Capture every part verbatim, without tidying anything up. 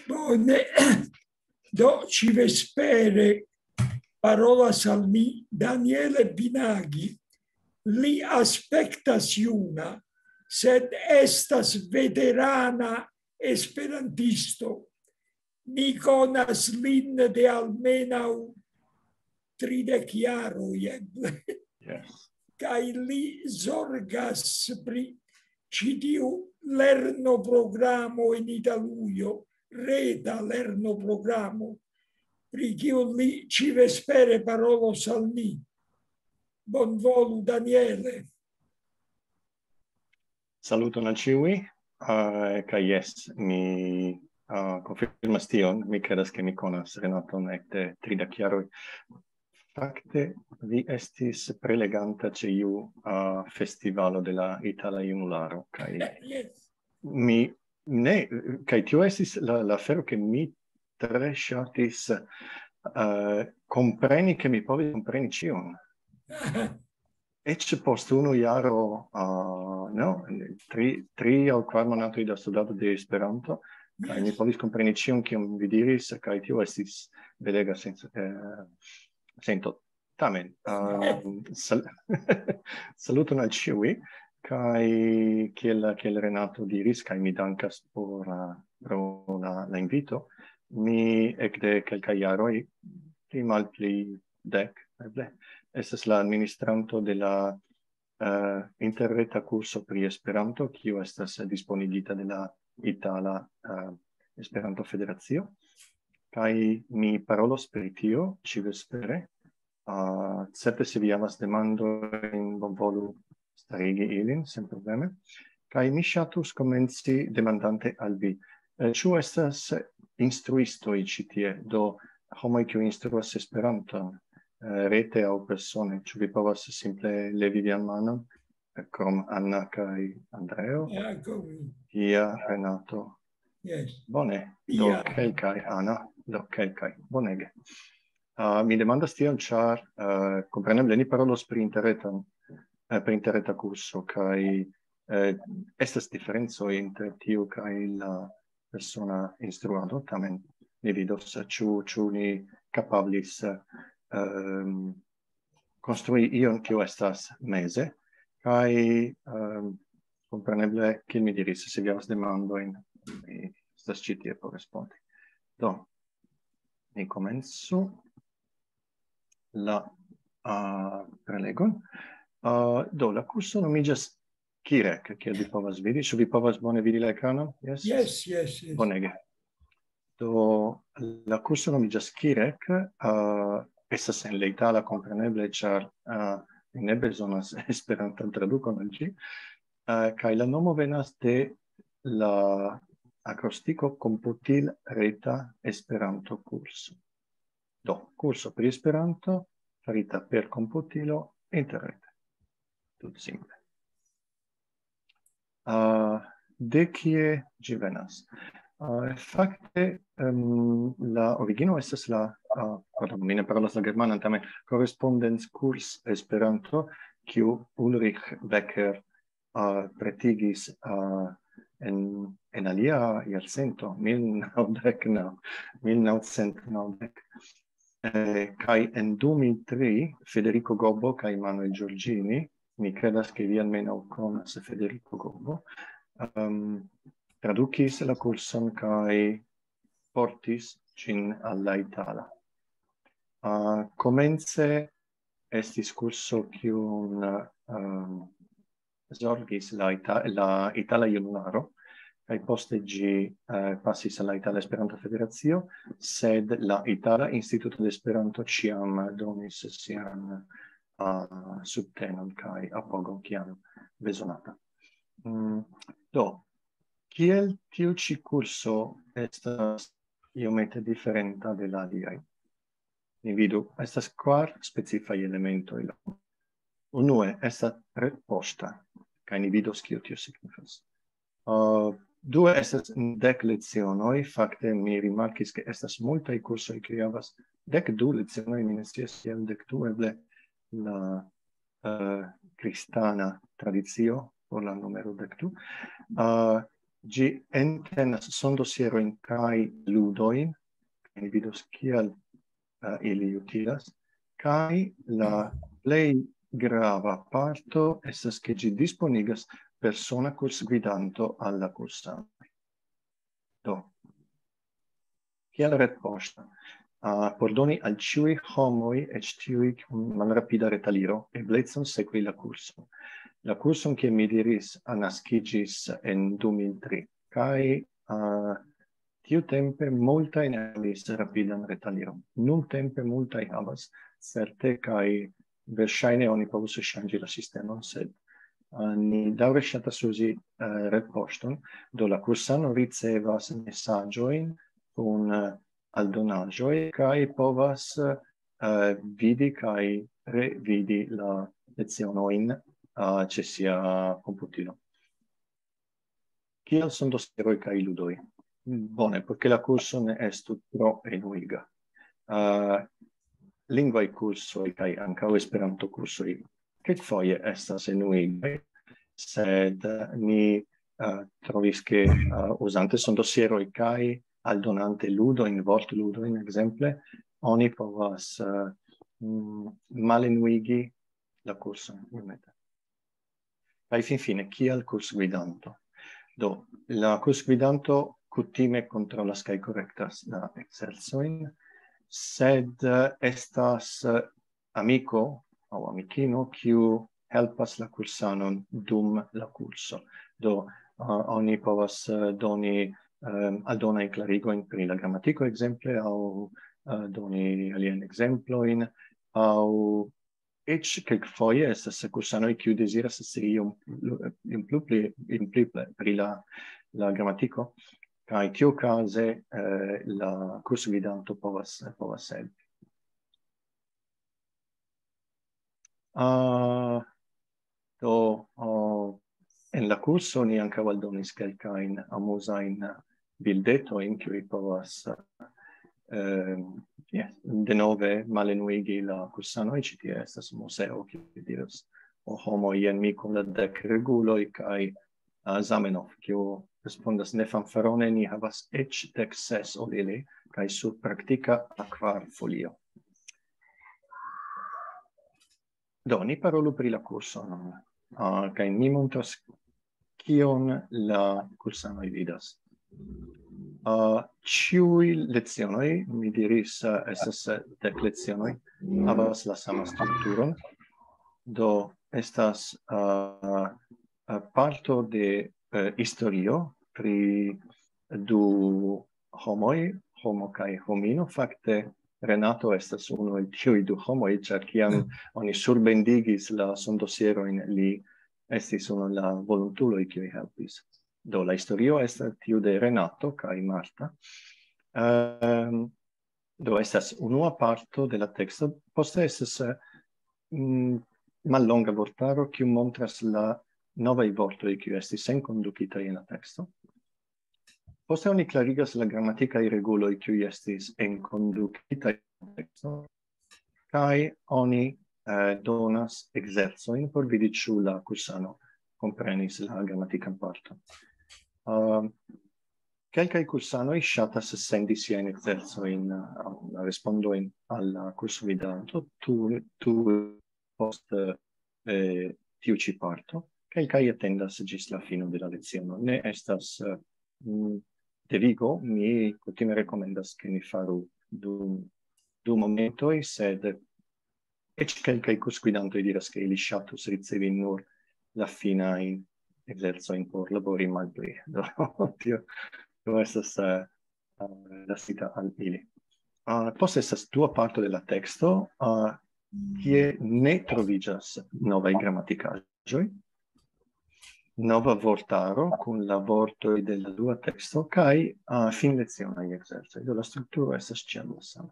Bone. Do, ĉi vespere parolas al mi Daniele Binagi. Li aspektas juna, sed estas veterana esperantisto. Mi konas lin de almenaŭ tridek jaroj, eble. Yes. Kaj li zorgas pri ĉi tiu lernoprogramo en Italujo, reta lernoprogramo, pri kiu li ĉi vespere parolos al ni. Bonvolu, Daniele. Saluton al ĉiuj. Uh, kaj jes, mi uh, konfirmas tion. Mi kredas, ke mi konas Renaton ekde tridek jaroj. Fakte, vi estis preleganta ĉe iu uh, festivalo de la Itala Junularo. Kaj Yes. Mi ne, kaj tio estis la, la afero, ke mi tre ŝatis uh, kompreni, ke mi povis kompreni ĉion. Eĉ post unu jaro, uh, no, tri, tri aŭ kvar monatoj da studado de Esperanto, kaj mi povis kompreni ĉion, kion vi diris, kaj tio estis belega sens, eh, sento. Tamen, uh, sal saluton al ĉiuj, kaj kiel, kiel Renato diris, kaj mi dankas por, uh, pro la, la invito, mi ekde kelkaj jaroj, pli malpli dek, eble, estas la administranto de la uh, interreta kurso pri Esperanto, kiu estas disponigita de la Itala uh, Esperanto Federacio. Kaj mi parolos pri tio ĉi vespere. Uh, certe, se vi havas demandojn, bonvolu starigi ilin senprobleme. Kaj mi ŝatus komenci demandante al vi, eh, ĉu estas instruistoj ĉi tie, do homoj, kiu instruas Esperanton, eh, rete aŭ persone, ĉu vi povas simple levi vian manon, eh, krom Anna kaj Andreo? Jako mi. Ja, Renato. Yes. Bone, do Ja. Kelkaj, Anna, do kelkaj. Bonege. Uh, mi demandas tion, ĉar uh, kompreneble ni parolos pri interretan, eh, pri interreta kurso, kaj eh, estas diferencoj inter tiu kaj la persona instruado, tamen ni vidos, ĉu, ĉu ni kapablis um, konstrui ion, kiu estas meze, kaj um, kompreneble, kiel mi diris, se vi havas demandojn, mi estas ĉi tie por respondi. Do, ni komencu la uh, prelegon. Uh, do, la kurso nomiĝas Kirek, kiel vi povas vidi. Ĉu vi povas bone vidi la ekranon? Yes? Yes, yes, yes. Bonege. Do, la kurso nomiĝas Kirek, uh, estas en la itala, kompreneble, ĉar uh, mi ne bezonas Esperantan tradukon al ĝi, uh, kaj la nomo venas de la akrostiko Komputil Reta Esperanto Kurso. Do, kurso pri Esperanto farita per komputilo interrete. Tut simple. Uh, de kie ĝi venas? Uh, fakte, um, la origino estas la, uh, pardon, mi ne parolas la germanan, tamen, Korrespondenckurs Esperanto, kiu Ulrich Becker uh, pretigis uh, en, en alia jarcento, mil naŭdek naŭ, mil naŭcent naŭdek. Eh, kaj en du mil tri Federico Gobbo kaj Manuel Giorgini, mi kredas, ke vi almenaŭ konas Federico Gobbo, um, tradukis la kurson kaj portis ĝin al la itala. Uh, komence estis kurso, kiun um, zorgis la, Ita la Itala Junularo, kaj poste ĝi uh, pasis al la Itala Esperanto Federacio, sed la Itala Instituto de Esperanto ĉiam donis sian uh, subtenon kaj apogon, kiam bezonata. Mm, do, kiel tiu ĉi kurso estas iomete diferenta de la aliaj? Ni vidu, estas kvar specifaj elementoj. Unue, estas retpoŝta, kaj ni vidos, kio tio signifas. Uh, due, estas dek lecionoj. Fakte, mi rimarkis, ke estas multaj kursoj, kiuj havas dek du lecionoj, mi ne scias kiel dek du, eble la uh, kristana tradicio por la numero dek du. Uh, Ĝi entenas sondosierojn kaj ludojn, kaj ni vidos kial uh, ili utilas, kaj la plej grava parto estas, ke ĝi disponigas persona kursgvidanto al la kursanoj. Do, kiel retpoŝto? Uh, por doni al ĉiuj homoj, eĉ tiuj kun malrapida retaliro, eblecon sekvi la kurson. La kurson, kiel mi diris, naskiĝis en du mil tri, kaj uh, tiutempe multaj ne havis rapidan retaliron. Nuntempe multaj havas, certe, kaj verŝajne oni povus ŝanĝi la sistemon, sed uh, ni daŭre ŝatas uzi uh, retpoŝton, do la kursano ricevas mesaĝojn kun uh, aldonaĵoj kaj povas uh, vidi kaj revidi la lecionojn uh, ĉe sia komputilo. Kiel sondosieroj kaj ludoj? Bone, por ke la kurso ne estu tro enuiga. Uh, lingvaj kursoj kaj ankaŭ Esperanto-kursoj kelkfoje estas enuigaj, sed uh, ni uh, trovis, ke uh, uzante sondosieroj kaj aldonante ludojn, vortludojn ekzemple, oni povas uh, mm, malenuigi la kurson iomete. Kaj finfine, kiel kursgvidanto? Do, la kursgvidanto kutime kontrolas kaj korektas la ekzercojn, sed uh, estas uh, amiko aŭ amikino, kiu helpas la kursanon dum la kurso. Do, uh, oni povas uh, doni um, aldonaj klarigojn pri la gramatiko, ekzemple, aŭ uh, doni aliajn ekzemplojn, aŭ eĉ kelkfoje estas kursanoj, kiu deziras scii iom pli pri la, la gramatiko, kaj tiukaze eh, la kursgvidanto povas, povas helpi. Uh, do, uh, en la kurso ni ankaŭ aldonis kelkajn amuzajn bildetojn, kiuj povas uh, yes, denove malenuigi la kursanoj. Ĉi tie estas muzeo, kiu diras: "O homo, jen mi kun la dek reguloj", kaj uh, Zamenhof, kiu respondas: "Ne, fanfarone, ni havas eĉ dek ses ol ili, kaj sur praktika akvar folio." Do, ni parolu pri la kurso nun, uh, kaj mi montras, kion la kursanoj vidas. Uh, ĉiuj lecionoj, mi diris, uh, estas dek lecionoj, havas la sama strukturon. Do, estas uh, parto de uh, historio pri du homoj, homo kaj homino. Fakte, Renato estas unu el tiuj du homoj, ĉar kiam oni surbendigis la sondosierojn, li estis unu el la volontuloj, kiuj helpis. Do, la historio estas tiu de Renato kaj Marta. Um, do, estas unua parto de la teksto. Poste estas uh, mallonga vortaro, kiu montras la novaj vortoj, kiu estis enkondukitaj en la teksto. Poste oni klarigas la gramatikaj reguloj, kiuj estis enkondukitaj en la teksto, kaj oni eh, donas ekzercojn por vidi, ĉu la kursano komprenis la gramatikan parton. Uh, kelkaj kursanoj ŝatas sendi siajn ekzercojn, uh, respondojn al la kursvidanto, tu, tu post eh, tiu ĉi parto. Kelkaj atendas ĝis la fino de la leciono. Ne estas uh, devigo, mi kutime rekomendas, ke ni faru du, du momentoj, sed eĉ kelkaj kursgvidantoj diras, ke ili ŝatus ricevi nur la finajn ekzercojn por labori malpli. Do, tio, tio estas uh, lasita al ili. Uh, poste estas dua parto de la teksto, uh, kie ne troviĝas novaj gramatikaĵoj, nova vortaro kun la vortoj de la dua teksto kaj uh, finlecionaj ekzercoj. Do, la strukturo estas ĉiam la sama.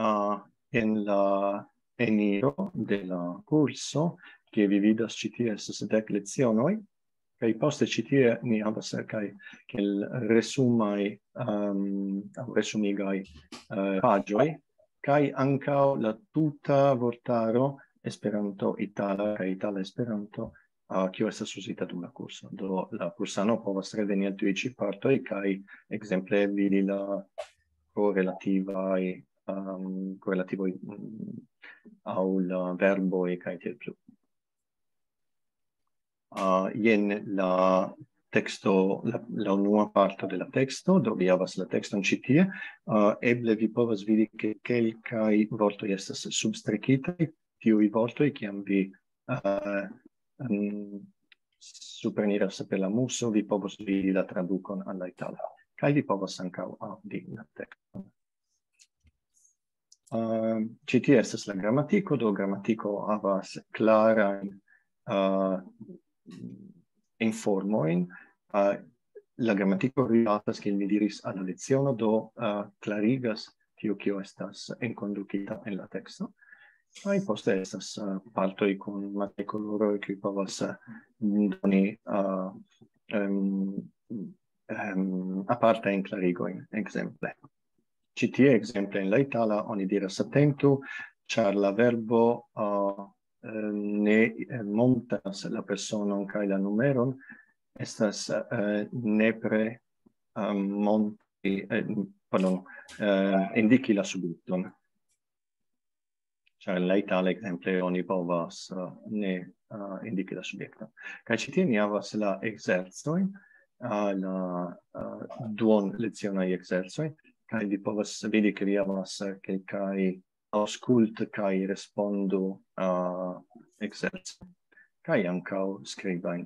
Uh, en la eniro de la kurso, ke vi vidas, ĉi tie estas dek lecionoj, kaj poste ĉi tie ni havas kaj kiel resumaj um, aŭ resumigaj uh, paĝoj, kaj ankaŭ la tuta vortaro Esperanto-itala kaj itala-Esperanto uh, kiu estas uzita dum la kurso. Do la kursano povas reveni al tiuj ĉi partoj kaj ekzemple vidi la korelativaj um, korelativoj mm, aŭ la verboj kaj tiel plu. Uh, jen la teksto, la, la unua parto de la teksto, do vi havas la tekston ĉi tie. Uh, eble vi povas vidi, ke kelkaj vortoj estas substrekitaj, tiuj vortoj, kiam vi uh, um, supreniras per la muso, vi povas vidi la tradukon al la itala. Kaj vi povas ankaŭ aŭdi la tekston. Uh, ĉi tie estas la gramatiko, do gramatiko havas klarajn uh, informojn. Uh, la gramatiko rilatas, kiel mi diris, al la leciono, do uh, klarigas tio, kio estas enkondukita en la teksto. Kaj poste estas uh, partoj kun markaj koloroj, kiuj povas uh, doni uh, um, um, apartajn klarigojn, ekzemple. Ĉi tie, ekzemple, en la itala oni diras atentu, ĉar la verbo uh, ne montras la personon kaj la numeron, estas uh, nepre uh, monti, uh, pardon, uh, indiki la subjekton. Ĉar en la itala, ekzemple, oni povas uh, ne uh, indiki la subjekton. Kaj ĉi tie ni havas la ekzercojn, uh, la uh, duon lecionaj ekzercoj, kaj vi povas vidi, ke vi havas uh, kelkaj aŭskultu kaj respondu uh, ekzercoj, kaj ankaŭ skribajn.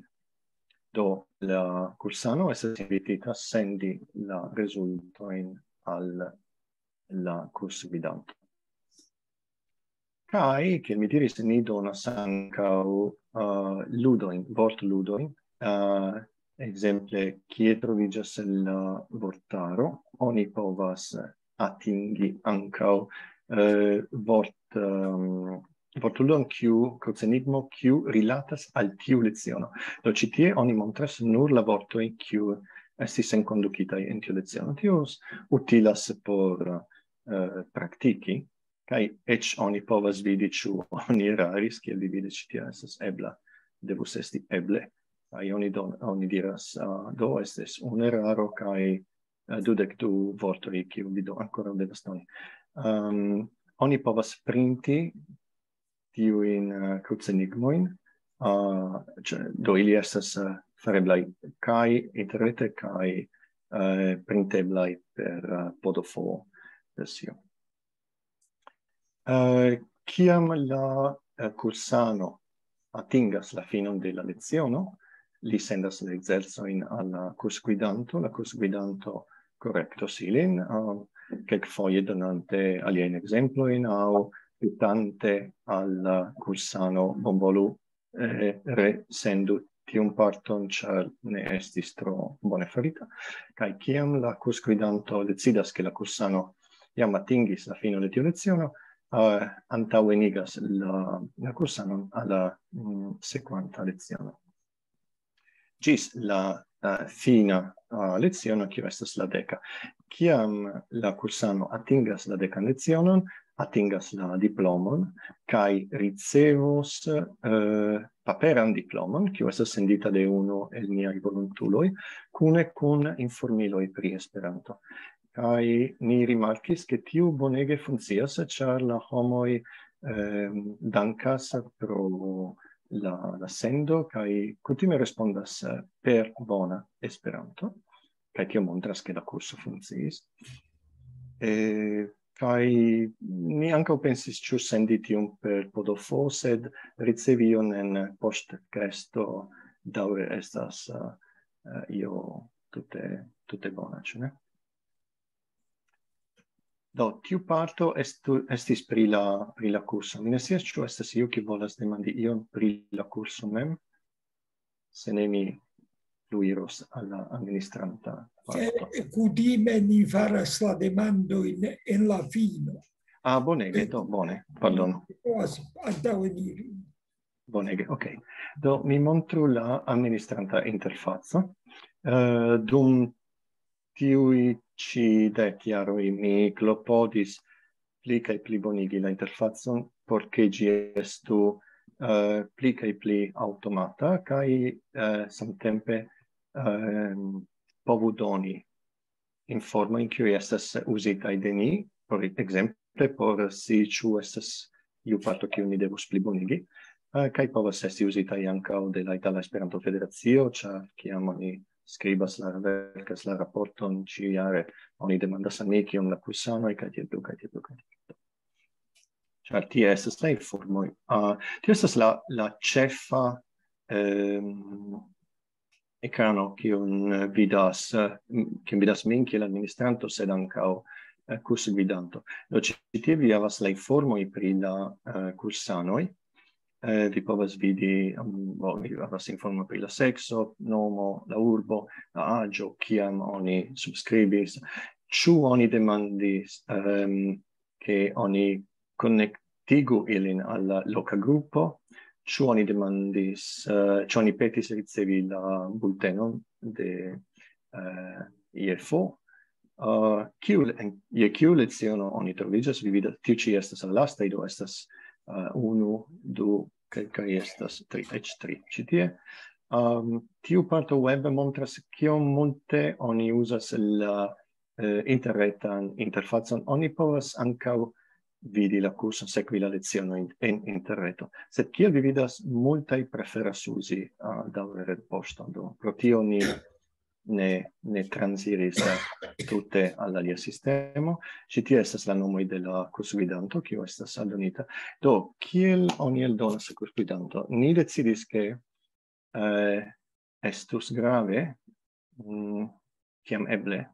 Do la kursano estas invitita sendi la rezultojn al la kursgvidanto. Kaj, kiel mi diris, ni donas ankaŭ uh, ludojn, vortludojn. Uh, ekzemple, kie troviĝas la vortaro, oni povas atingi ankaŭ uh, vort, um, vortludon, kiu, krucenigmo, kiu rilatas al tiu leciono. Do ĉi tie oni montras nur la vortoj, kiu estis enkondukitaj en tiu leciono. Tio utilas por uh, praktiki, kaj eĉ oni povas vidi, ĉu oni eraris, kiel vi vidas, ĉi tie estas ebla, devus esti eble. Kaj oni, don, oni diras, uh, do estis un eraro, kaj uh, dudek du vortoj, kiu vi do ankoraŭ devas doni. Um, oni povas printi tiujn uh, krucenigmojn, uh, do ili estas uh, fareblaj kaj interrete kaj uh, printeblaj per uh, P D F versio. Uh, kiam la uh, kursano atingas la finon de la leciono, li sendas la ekzercojn al la kursgvidanto, la kursgvidanto korektos ilin, uh, kelkfoje donante aliajn ekzemplojn aŭ petante al la kursano: bonvolu eh, resendu tiun parton, ĉar ne estis tro bone farita. Kaj kiam la kursgvidanto decidas, ke la kursano jam atingis la finon de tiu leciono, uh, antaŭenigas la, la kursanon al la mm, sekvanta leciono. Ĝis la uh, fina uh, leciono, kiu estas la deka. Kiam la kursano atingas la dekan lecionon, atingas la diplomon kaj ricevos uh, paperan diplomon, kiu estas sendita de unu el niaj volontuloj, kune kun informiloj pri Esperanto. Kaj ni rimarkis, ke tiu bonege funkcias, ĉar la homoj eh, dankas pro la, la sendo kaj kutime respondas eh, per bona Esperanto, kaj tio montras, ke la kurso funkciis. Eh, kaj ni ankaŭ pensis, ĉu sendi tiun per P D F, sed ricevi ion en poŝtkesto daŭre estas uh, io tute, tute bona, ĉu ne? Do, tiu parto estu, estis pri la, pri la kurso. Mi ne scias, ĉu estas iu, kiu volas demandi ion pri la kurso mem. Se ne, mi pluiros al la administranta parto. Kutime ni faras la demandojn en la fino. Ah, bonege, do, bone, pardon. Antaŭeniri. Bonege, ok. Do, mi montru la administranta interfaco. Uh, dum tiuj ĉi dek jaroj mi klopodis pli kaj pli bonigi la interfacon, por ke ĝi estu eh, pli kaj pli aŭtomata, kaj, eh, samtempe, ehm, povu doni informojn, kiuj estas uzitaj de ni, por ekzemple, por scii, ĉu estas iu parto, kiu ni devus plibonigi, eh, kaj povas esti uzitaj ankaŭ de la Itala Esperanto-Federacio, ĉar kiam oni skribas la, verkas la raporton ĉiujare, oni demandas al mi, kiom la kursanoj, kaj tiel plu, kaj tiel plu, kaj tiel plu. Ĉar tie estas la informoj. Ah, tio estas la, la ĉefa, ehm, ekrano, kiun, eh, vidas, eh, m-, kiun vidas min kiel administranto, sed ankaŭ, eh, kursgvidanto. Do, ĉi tie vi havas la informoj pri la, eh, kursanoj. Eh, vi povas vidi, mm, bo, vi havas informo pri la sekso, nomo, la urbo, la aĝo, kiam oni subskribis, ĉu oni demandis, ehm, ke oni konektigu ilin al la loka grupo, ĉu oni demandis, eh, ĉu oni petis ricevi la bultenon de, eh, I F O, eh, kiu le-, en, je kiu leciono oni troviĝas, vi vidas, tiu ĉi estas la lastaj, do estas, eh, unu, du, kaj, kaj estas tri, eĉ tri ĉi tie. Ehm, tiu parto web montras, kiom multe oni uzas la, eh, interretan interfacon. Oni povas ankaŭ vidi la kurson, sekvi la lecionojn en interreto. Sed kiel vi vidas, multaj preferas uzi, ah, daŭre retpoŝton. Do, pro tio ni ne, ne transiris, eh, tute al alia sistemo. Ĉi tie estas la nomoj de la kursgvidanto, kiu estas aldonita. Do, kiel oni eldonas la kursgvidanto? Ni decidis, ke, eh, estus grave, mm, kiam eble,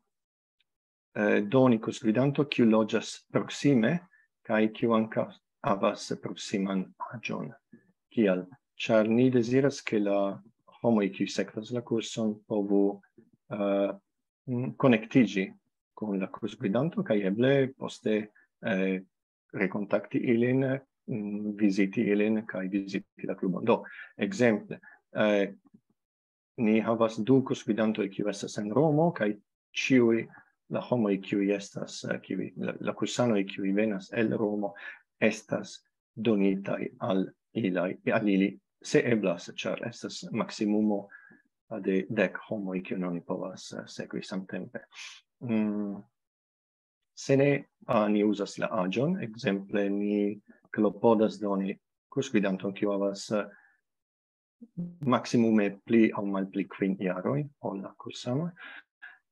eh, doni kursgvidanto, kiu loĝas proksime, kaj kiu ankaŭ havas proksiman aĝon. Kial? Ĉar ni deziras, ke la homoj, kiuj sekvas la kurson, povu, eh, mm, konektiĝi kun la kursgvidanto, kaj eble poste, eh, rekontakti ilin, mm, viziti ilin, kaj viziti la klubon. Do, ekzemple, eh, ni havas du kursgvidantoj, kiuj estas en Romo, kaj ĉiuj la homoj, kiuj estas, eh, kiuj, la, la kursanoj, kiuj venas el Romo, estas donitaj al ilaj, al ili, se eblas, ĉar estas maksimumo de dek homoj, kiujn oni povas, eh, sekvi samtempe. Mm, se ne, ah, ni uzas la aĝon, ekzemple, ni klopodas doni kursgvidanton, kiu havas, eh, maksimume pli aŭ malpli kvin jaroj ol la kursanoj,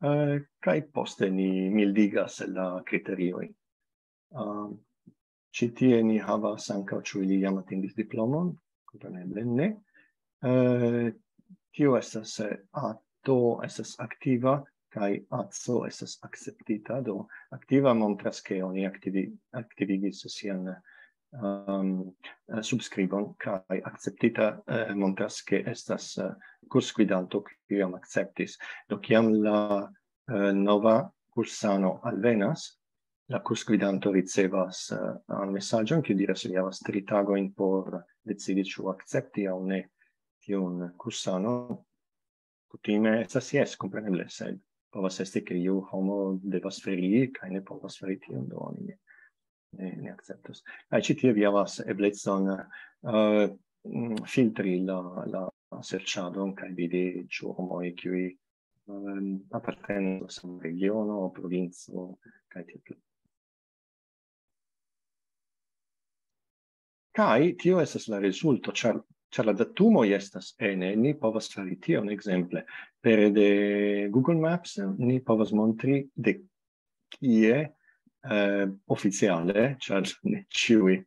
eh, kaj poste ni mildigas la kriteriojn. Ah, ĉi tie ni havas ankaŭ, ĉu ili jam atingis diplomon, kompreneble ne. Eh, tio estas, eh, A T O estas aktiva, kaj A C O estas akceptita. Do, aktiva montras, ke oni aktivi-, aktivigis sian, ehm, eh, subskribon, kaj akceptita, eh, montras, ke estas, eh, kursgvidanto, kiu jam akceptis. Do, kiam la, eh, nova kursano alvenas, la kursgvidanto ricevas, eh, mesaĝon, kiu diras, li havas tri tagojn por decidi, ĉu akcepti aŭ ne tiun kursanon. Kutime estas jes, kompreneble, sed povas esti, ke iu homo devas ferii kaj ne povas fari tion, do oni ne, ne, ne akceptas. Kaj ĉi tie vi havas eblecon, eh, mm, filtri la, la serĉadon kaj vidi, ĉu homoj, kiuj, ehm, apartenas al sama regiono, provinco, kaj tiel plu. Kaj tio estas la rezulto, ĉar, ĉar la datumoj estas ene, ni povas fari tion, ekzemple, pere de Google Maps ni povas montri de kie, eh, oficiale, ĉar ne ĉiuj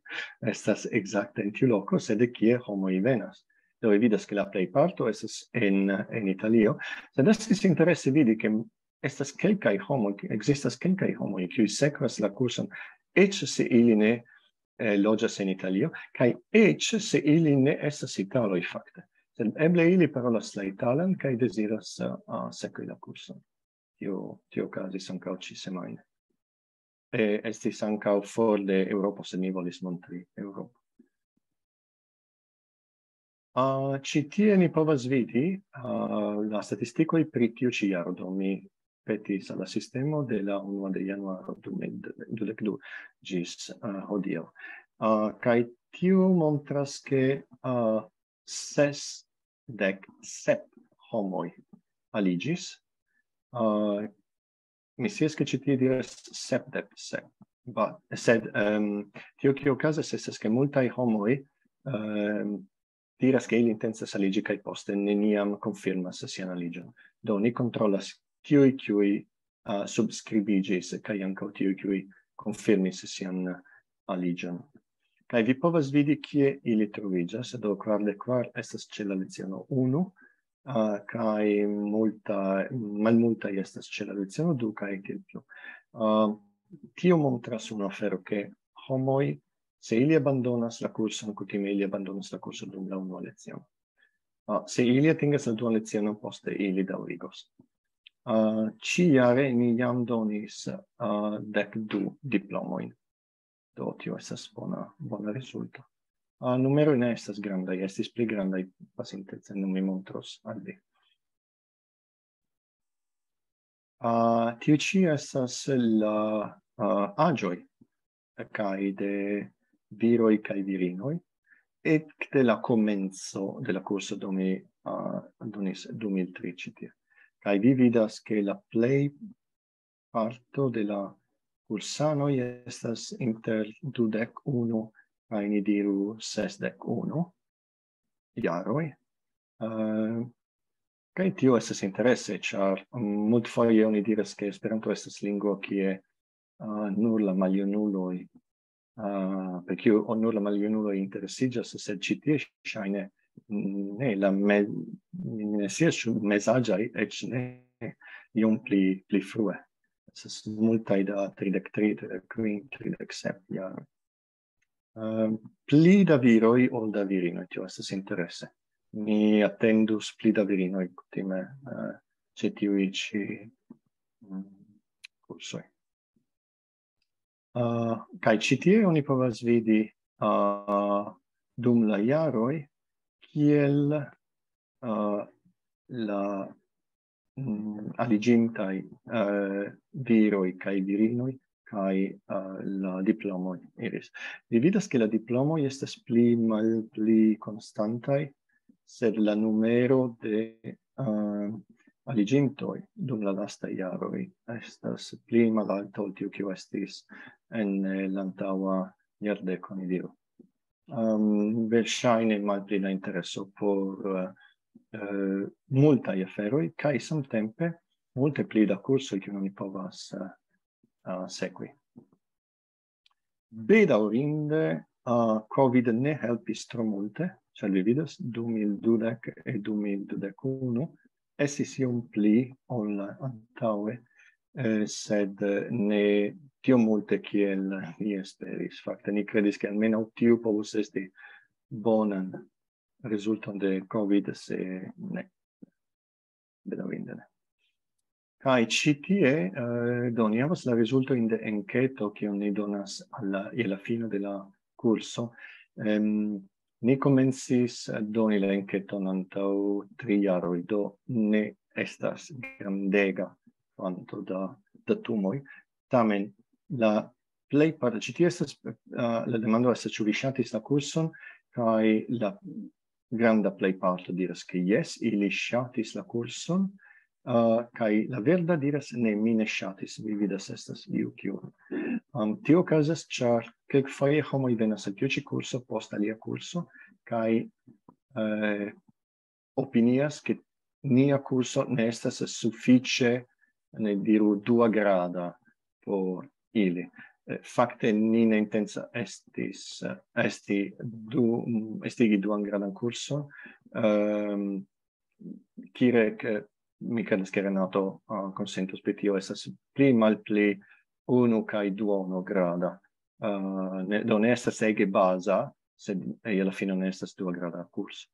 estas ekzakte en tiu loko, sed de kie homoj venas. Do, vi vidas, ke la plejparto estas en, en Italio, sed estis interese vidi, ke estas kelkaj homoj, ke ekzistas kelkaj homoj, kiuj sekvas la kurson, eĉ se ili ne, eh, loĝas en Italio, kaj eĉ se ili ne estas italoj fakte. Sed eble ili parolas la italan kaj deziras, eh, sekvi la kurson. Tio, tio okazis ankaŭ ĉi semajne. Eh, estis ankaŭ for de Eŭropo, sed mi volis montri Eŭropo. Ah, ĉi tie ni povas vidi, ah, la statistikoj pri tiu ĉi jaro. Do, mi petis al la sistemo de la unua de januaro du mil dudek du ĝis, ah, hodiaŭ. Ah, kaj Tiu montras, ke uh, sesdek sep homoj aliĝis. Uh, mi scias, ke ĉi tie diras sepdek sep, but, sed um, tio, kio okazas, estas, ke multaj homoj um, diras, ke ili intencas aliĝi kaj poste neniam konfirmas sian aliĝon. Do ni kontrolas, kiuj, kiuj uh, subskribiĝis, kaj ankaŭ tiuj, kiuj konfirmis sian aliĝon. Kaj vi povas vidi, kie ili troviĝas. Do kvardek kvar estas ĉe la leciono unu, uh, kaj multa, malmultaj estas ĉe la leciono du kaj tiel plu. Uh, tio montras unu afero, ke homoj, se ili abandonas la kurson, kutime ili abandonas la kurson dum la unua leciono. Uh, se ili atingas la duan lecionon, poste ili daŭrigos. Uh, ĉi-jare ni jam donis uh, dek du diplomojn. Do tio estas bona, bona rezulto. Uh, numeroj ne estas grandaj, estis pli grandaj pasinte, sed nun mi montros al vi. Uh, tio ĉi estas la uh, aĝoj kaj de viroj kaj virinoj ekde la komenco de la kurso, do mi uh, donis du mil tri ĉi tie. Kaj vi vidas, ke la plej parto de la kursanoj estas inter dudek unu kaj, ni diru, sesdek unu jaroj. Uh, kaj tio estas interese, ĉar multfoje oni diras, ke Esperanto estas lingvo, kie uh, nur la maljunuloj, uh, per kiu nur la maljunuloj interesiĝas, sed ĉi tie ŝajne ne, la me, mi ne scias, ĉu mezaĝaj, eĉ ne, iom pli, pli frue. Estas multaj da tridek tri, tridek kvin, tridek sep jaroj. Uh, pli da viroj ol da virinoj, tio estas interese. Mi atendus pli da virinoj kutime uh, ĉe tiuj ĉi mm, kursoj. Uh, kaj ĉi tie oni povas vidi uh, dum la jaroj, kiel uh, la mm, aliĝintaj uh, viroj kaj virinoj kaj uh, la diplomoj iris. Vi vidas, ke la diplomoj estas pli malpli konstantaj, sed la numero de uh, aliĝintoj dum la lastaj jaroj estas pli malalta ol tiu, kiu estis en eh, la antaŭa jardeko, ni diru. Um, verŝajne malpli la intereso por uh, uh, multaj aferoj, kaj samtempe multe pli da kursoj, kiujn oni povas uh, uh, sekvi. Bedaŭrinde, uh, covid ne helpis tro multe, ĉar vi vidas, du mil dudek e du mil dudek unu estis iom pli ol antaŭe, eh, sed ne tiom multe kiel ni esperis. Fakte, ni kredis, ke almenaŭ tiu povus esti bonan rezulton de covid, se ne, bedaŭrinde ne. Kaj ĉi tie, eh, do, ni havas la rezultojn de enketo, kiun ni donas al la, je la fino de la kurso. Em, ni komencis doni la enketon antaŭ tri jaroj, do ne estas grandega kvanto da datumoj. Tamen la plej parte, ĉi tie estas, eh, la demando estas, ĉu vi ŝatis la kurson, kaj la granda plejparto diras, ke jes, ili ŝatis la kurson, uh, kaj la verda diras, ne, mi ne ŝatis, vi vidas, estas iu kiu. Um, tio okazas, ĉar kelkfoje homoj venas al tiu ĉi kurso post alia kurso, kaj uh, opinias, ke nia kurso ne estas sufiĉe, ne diru, duagrada por ili. Eh, fakte ni ne intenca estis, eh, esti du, mm, estigi duan gradan kurson. Um, Kirek, mi kredas, ke Renato uh, konsentos pri tio, estas pli malpli unu kaj duono grada. Uh, ne, do ne estas ege baza, sed je la fino ne estas duagrada kurso.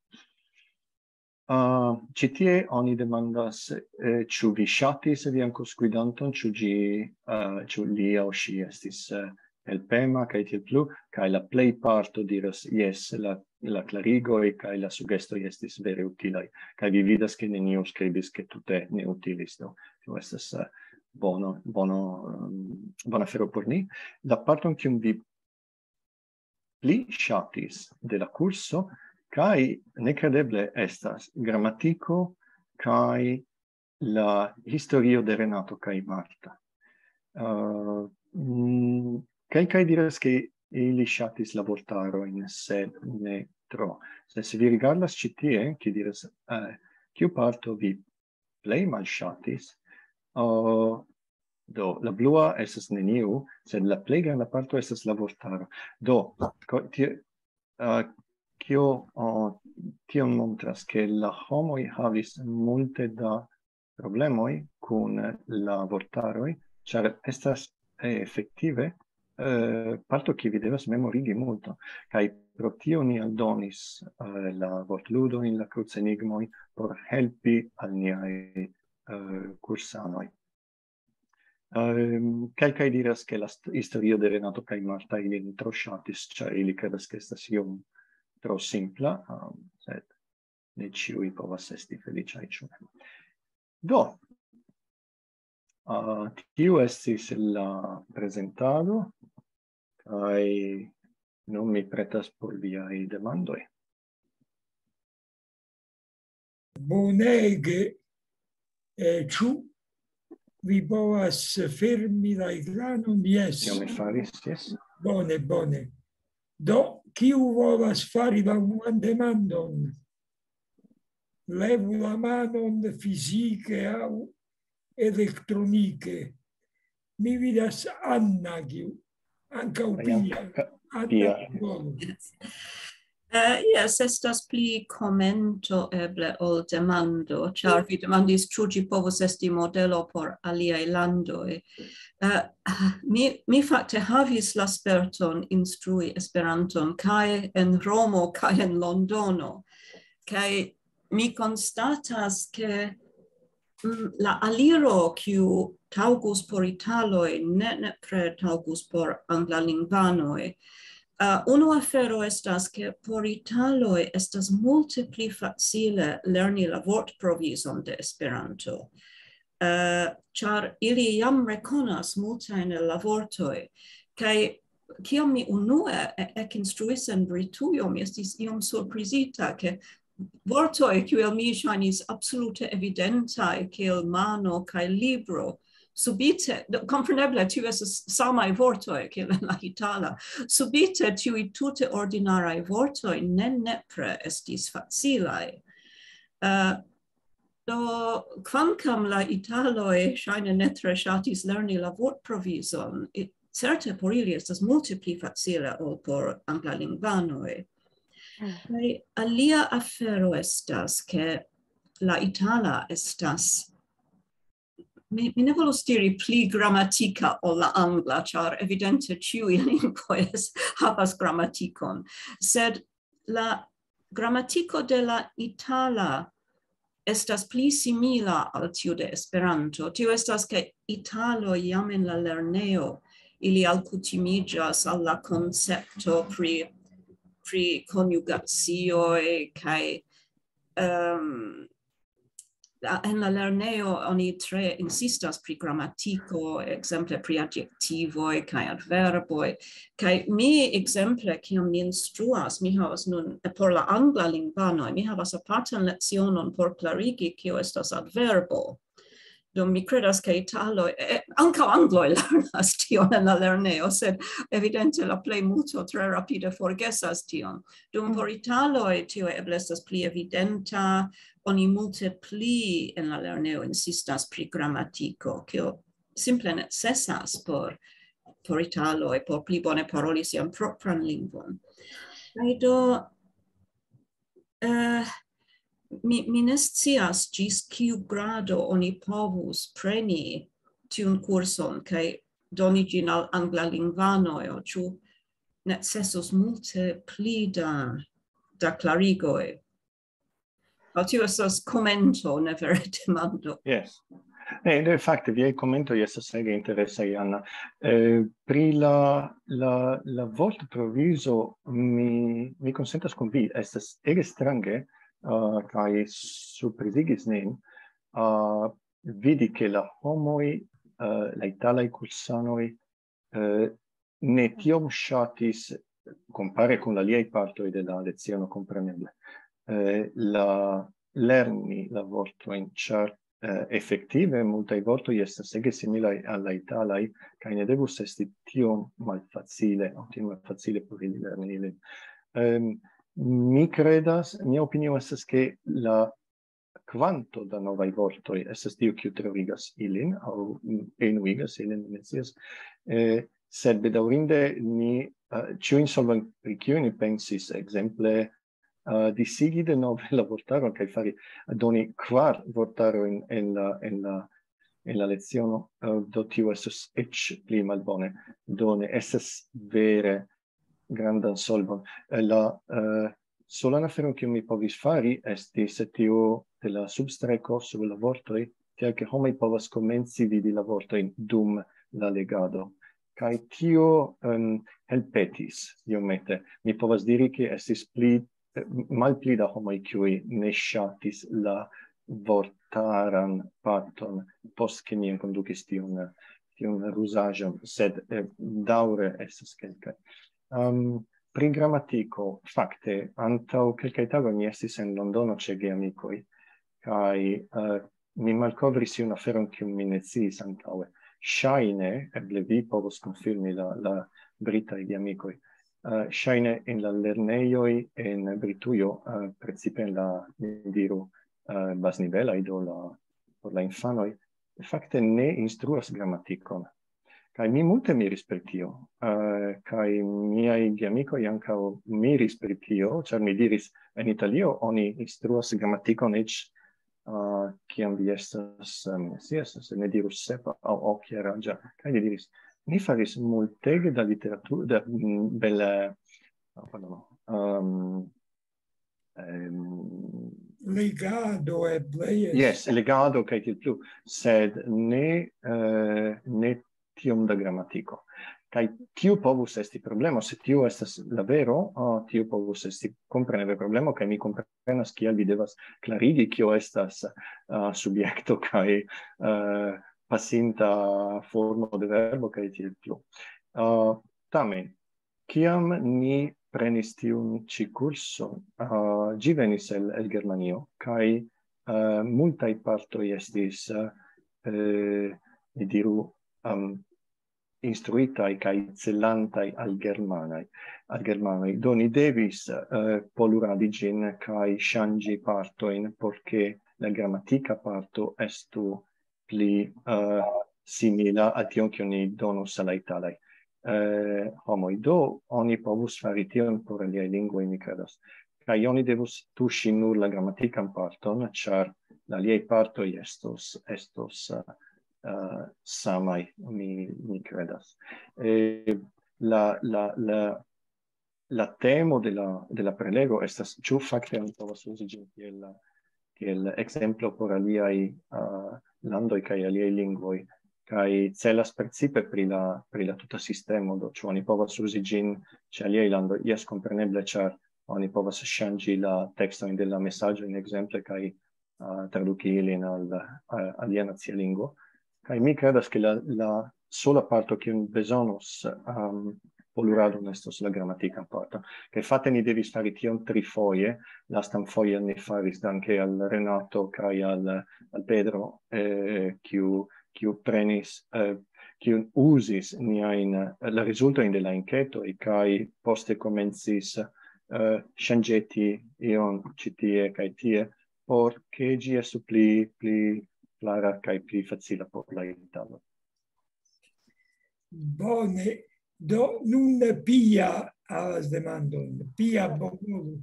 Uh, ĉi tie oni demandas, eh, ĉu vi ŝatis vian kursgvidanton, ĉu ĝi, uh, ĉu li aŭ ŝi estis uh, helpema, kaj tiel plu, kaj la plej parto diras, jes, la, la klarigoj kaj la sugestoj estis vere utilaj, kaj vi vidas, ke neniu skribis, ke tute ne utilis, do tio estas uh, bono, bono, um, bona afero por ni. La parton, kiun vi pli ŝatis de la kurso, kaj nekredeble estas gramatiko kaj la historio de Renato kaj Marta. Uh, mm, kelkaj diras, ke ili ŝatis la vortarojn, sed ne tro. Se, se vi rigardas ĉi tie, kiu diras, uh, kiu parto vi plej malŝatis, uh, do, la blua estas neniu, sed la plej granda parto estas la vortaro. Do, ko-, tie, uh, kio, uh, tion montras, ke la homoj havis multe da problemoj kun la vortaroj, ĉar estas, eh, efektive, eh, parto, kiu vi devas memorigi multo. Kaj pro tio ni aldonis, eh, la vortludojn, la krucenigmoj por helpi al niaj, eh, kursanoj. Ehm, kelkaj diras, ke la st-, historio de Renato kaj Marta ilin tro ŝatis, ĉar ili kredas, ke estas iom tro simpla, ehm, sed ne ĉiuj povas esti feliĉaj, ĉu ne? Do, ah, tiu estis la prezentado, kaj nun mi pretas por viaj demandoj. Bonege, eh, ĉu vi povas fermi la ekranon? Jes. Io mi faris, jes. Bone, bone. Do, kiu volas fari la unuan demandon? Levu la manon fizike aŭ elektronike. Mi vidas Anna, kiu ankaŭ Jam Pia. ka-, Anna, Pia. Bone. Eh, jes, estas pli komento eble ol demando, ĉar vi demandis, ĉu ĝi povus esti modelo por aliaj landoj. Eh, mi, mi fakte havis la sperton instrui Esperanton kaj en Romo kaj en Londono. Kaj mi konstatas, ke, mm, la aliro, kiu taŭgus por italoj, ne nepre taŭgus por anglalingvanoj. Uh, unu afero estas, ke por italoj estas multe pli facile lerni la vortprovizon de Esperanto. Uh, ĉar ili jam rekonas multajn el la vortoj. Kaj kiam mi unue e-, ekinstruis en Britujo, mi estis iom surprizita, ke vortoj, kiuj al mi ŝajnis absolute evidentaj, kiel mano kaj libro, subite, do, kompreneble, tiuj estas samaj vortoj kiel en la itala, subite tiuj tute ordinaraj vortoj ne nepre estis facilaj. Eh, do, kvankam la italoj ŝajne ne tre ŝatis lerni la vortprovizon, i-, certe por ili estas multe pli facile ol por anglalingvanoj. Kaj alia afero estas, ke la itala estas, mi, mi ne volus diri pli gramatika ol la angla, ĉar evidente ĉiuj lingvoj es-, havas gramatikon, sed la gramatiko de la itala estas pli simila al tiu de Esperanto. Tio estas, ke italoj jam en la lernejo ili alkutimiĝas al la koncepto pri, pri konjugacioj kaj, ehm, la, en la lernejo oni tre insistas pri gramatiko, ekzemple pri adjektivoj kaj adverboj. Kaj mi, ekzemple, kiam mi instruas, mi havas nun, eh, por la anglalingvanoj, mi havas apartan lecionon por klarigi, kio estas adverbo. Do mi kredas, ke italoj, eh, ankaŭ angloj lernas tion en la lernejo, sed evidente la plejmulto tre rapide forgesas tion. Dum por italoj tio eble estas pli evidenta, oni multe pli en la lernejo insistas pri gramatiko, kio simple necesas por, por italoj, por pli bone paroli sian propran lingvon. Kaj do, eh, mi, mi ne scias ĝis kiu grado oni povus preni tiun kurson kaj doni ĝin al anglalingvanoj, aŭ ĉu necesus multe pli da, da klarigoj. Aŭ tio estas komento, ne vere demando. Yes. Ne, de fakte, viaj komentoj estas ege interesaj, Anna. Eh, pri la, la, la vortprovizo, mi, mi konsentas kun vi, estas ege strange, ah, kaj surprizigis nin, ah, vidi, ke la homoj, ah, la italaj kursanoj, eh, ne tiom ŝatis compare con la aliaj partoj de la leciono, compreneble. Eh, la lerni la vortojn, ĉar eh, efektive multaj vortoj estas ege similaj al la italaj, kaj ne devus esti tiom malfacile, aŭ tiom malfacile por ili lerni ilin. Ehm, mi credas, mia opinio estas, ke la kvanto da novaj vortoj estas tio, kiu terurigas ilin, aŭ enuigas ilin, mi ne scias. Eh, sed bedaŭrinde ni, eh, ĉiujn solvojn, pri kiuj ni pensis, ekzemple, eh, disigi denove la vortaron kaj fari, doni kvar vortarojn en la, en la, en la leciono, eh, do tio estos eĉ pli malbone. Do ne estas vere grandan solvon. Eh, la, eh, solan aferon, kiun mi povis fari, estis tio de la substreko sub la vortoj, tiel ke homoj povas komenci vidi la vortojn dum la legado. Kaj tio, em, helpetis iomete. Mi povas diri, ke estis pli, eh, malpli da homoj, kiuj ne ŝatis la vortaran parton, post ke mi enkondukis tiun, tiun ruzaĵon, sed, eh, daŭre estas kelkaj. Em, pri gramatiko, fakte, antaŭ kelkaj tagoj mi estis en Londono ĉe geamikoj, kaj, eh, mi malkovris iun aferon, kiun mi ne sciis antaŭe. Ŝajne, eble vi povos konfirmi, la, la britaj geamikoj. Eh, ŝajne en la lernejoj en Britujo, eh, precipe en la, ni diru, eh, baznivelaj, do la, por la infanoj, fakte ne instruas gramatikon. Kaj mi multe miris pri tio. Eh, kaj miaj geamikoj ankaŭ miris pri tio, ĉar mi diris, en Italio oni instruas gramatikon eĉ, eh, kiam vi estas, eh, mi ne scias, se ne diru sepa aŭ okjaraĝa. Kaj li diris, ni faris multege da literaturo, da, mm, bele, oh, pardon, ehm, ehm, Legado eble, jes. Jes, legado kaj tiel plu, sed ne, eh, ne tiom da gramatiko. Kaj tiu povus esti problemo, se tiu estas la vero, ah, tiu povus esti kompreneble problemo, kaj mi komprenas, kial vi devas klarigi, kio estas, ah, subjekto kaj, eh, pasinta formo de verbo kaj tiel plu. Ah, tamen, kiam ni prenis tiun ĉi kurson, ah, ĝi venis el, el Germanio, kaj, eh, multaj partoj estis, eh, ni diru, am, instruitaj kaj celantaj al germanaj, al germanoj. Do ni devis, eh, poluradi ĝin kaj ŝanĝi partojn, por ke la gramatika parto estu pli, eh, simila al tion, kion ni donus al la italaj, eh, homoj. Do oni povus fari tion por aliaj lingvoj, mi kredas. Kaj oni devus tuŝi nur la gramatikan parton, ĉar la aliaj partoj estos, estos, eh, eh, samaj, mi, mi kredas. Eh, la, la, la, la temo de la, de la prelego estas, ĉu fakte oni povas uzi ĝin kiel, kiel ekzemplo por aliaj, ah, landoj kaj aliaj lingvoj, kaj celas precipe pri la, pri la tuta sistemo, do ĉu oni povas uzi ĝin ĉe aliaj landoj? Jes, kompreneble, ĉar oni povas ŝanĝi la tekstojn de la mesaĝoj, ekzemple, kaj, ah, traduki ilin al, al alia nacia lingvo. Kaj mi kredas, ke la, la sola parto, kiun bezonos, am, poluradon, estos la gramatikan parton. Kaj fakte ni devis fari tion trifoje. Lastan foje ni faris danke al Renato kaj al, al Pedro, eh, kiu, kiu prenis, eh, kiu uzis niajn, eh, la rezultojn de la enketoj, kaj poste komencis, eh, ŝanĝeti ion ĉi tie kaj tie, por ke ĝi estu pli, pli klara kaj pli facila por la italo. Bone, do nun Pia havas demandon. Pia, bonvolu.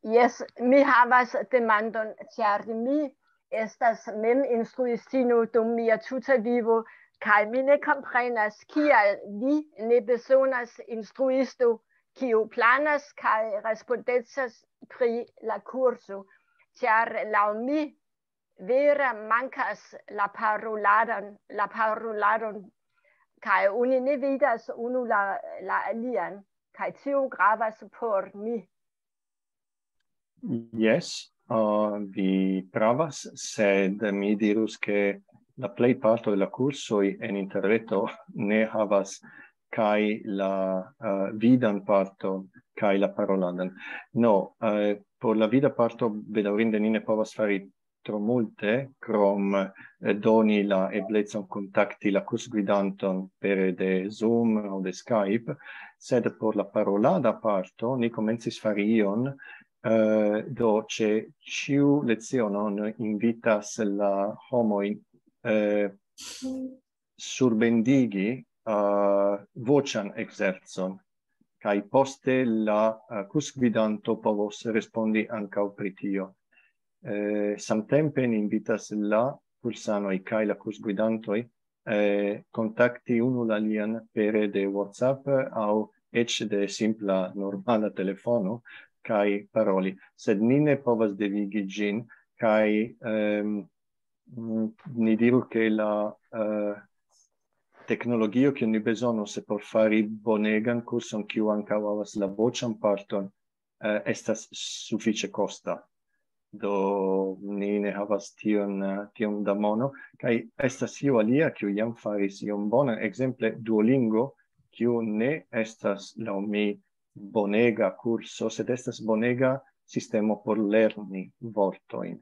Jes, mi havas demandon, ĉar mi estas mem instruistino dum mia tuta vivo, kaj mi ne komprenas, kial vi ne bezonas instruisto, kiu planas kaj respondecas pri la kurso, ĉar laŭ mi vera mankas la paroladon, la paroladon, kaj oni ne vidas unu la, la alian, kaj tio gravas por mi. Jes, ah, vi pravas, sed mi dirus, ke la plej parto de la kursoj en interreto ne havas kaj la uh, vidan parton kaj la paroladan. No, uh, por la vida parto bedaŭrinde ni ne povas fari tro multe, krom eh, doni la eblecon kontakti la kursgvidanton pere de Zoom aŭ de Skype, sed por la parolada parto ni komencis fari ion, eh, do ĉe ĉiu leciono ni invitas la homojn eh, surbendigi uh, voĉan ekzercon, kaj poste la uh, kursgvidanto povos respondi ankaŭ pri tio. Eh, samtempe ni invitas la kursanoj kaj la kursgvidantoj eh, kontakti unu la alian pere de WhatsApp aŭ eĉ de simpla normala telefono kaj paroli, sed ni ne povas devigi ĝin, kaj ehm, mm, ni diru, ke la eh, teknologio, kiun ni bezonos por fari bonegan kurson, kiu ankaŭ havas la voĉan parton, eh, estas sufiĉe kosta. Do ni ne havas tion, eh, tiom da mono, kaj estas io alia, kiu jam faris iom bonan, ekzemple Duolingo, kiu ne estas laŭ mi bonega kurso, sed estas bonega sistemo por lerni vortojn.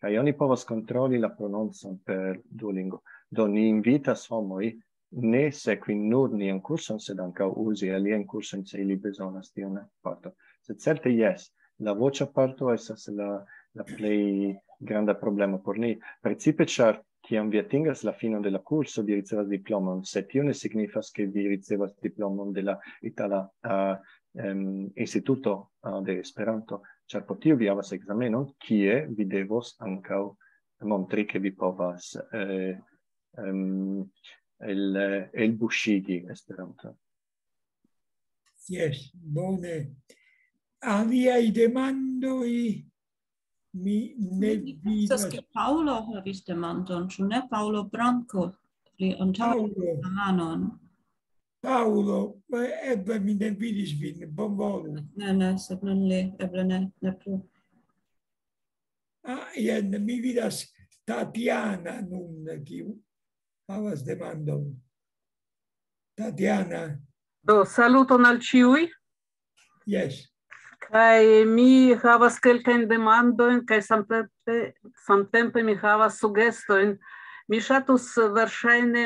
Kaj oni povas kontroli la prononcon per Duolingo. Do ni invitas homoj ne sekvi nur nian kurson, sed ankaŭ uzi aliajn kursojn, se ili bezonas tiun parton. Sed certe jes, la voĉa parto estas la, la plej granda problemo por ni. Precipe ĉar kiam vi atingas la finon de la kurso, vi ricevas diplomon, sed tio ne signifas, ke vi ricevas diplomon de la itala uh, um, instituto uh, de Esperanto, ĉar por tio vi havas ekzamenon, kie vi devos ankaŭ montri, ke vi povas eh, um, el, elbuŝigi Esperanto. Yes, bone. Aliaj demandoj mi ne vidas. Paolo havis demandon, ĉu ne? Paolo Branco, li antaŭ manon. Paolo, eble mi ne vidis vin, bonvolu. Ne, ne, sed nun li, eble ne, ne plu. Ah, jen, mi vidas Tatiana nun, kiu havas demandon. Tatiana. Do, saluton al ĉiuj. Yes. Kaj mi havas kelkajn demandojn, kaj samtempe, samtempe mi havas sugestojn. Mi ŝatus verŝajne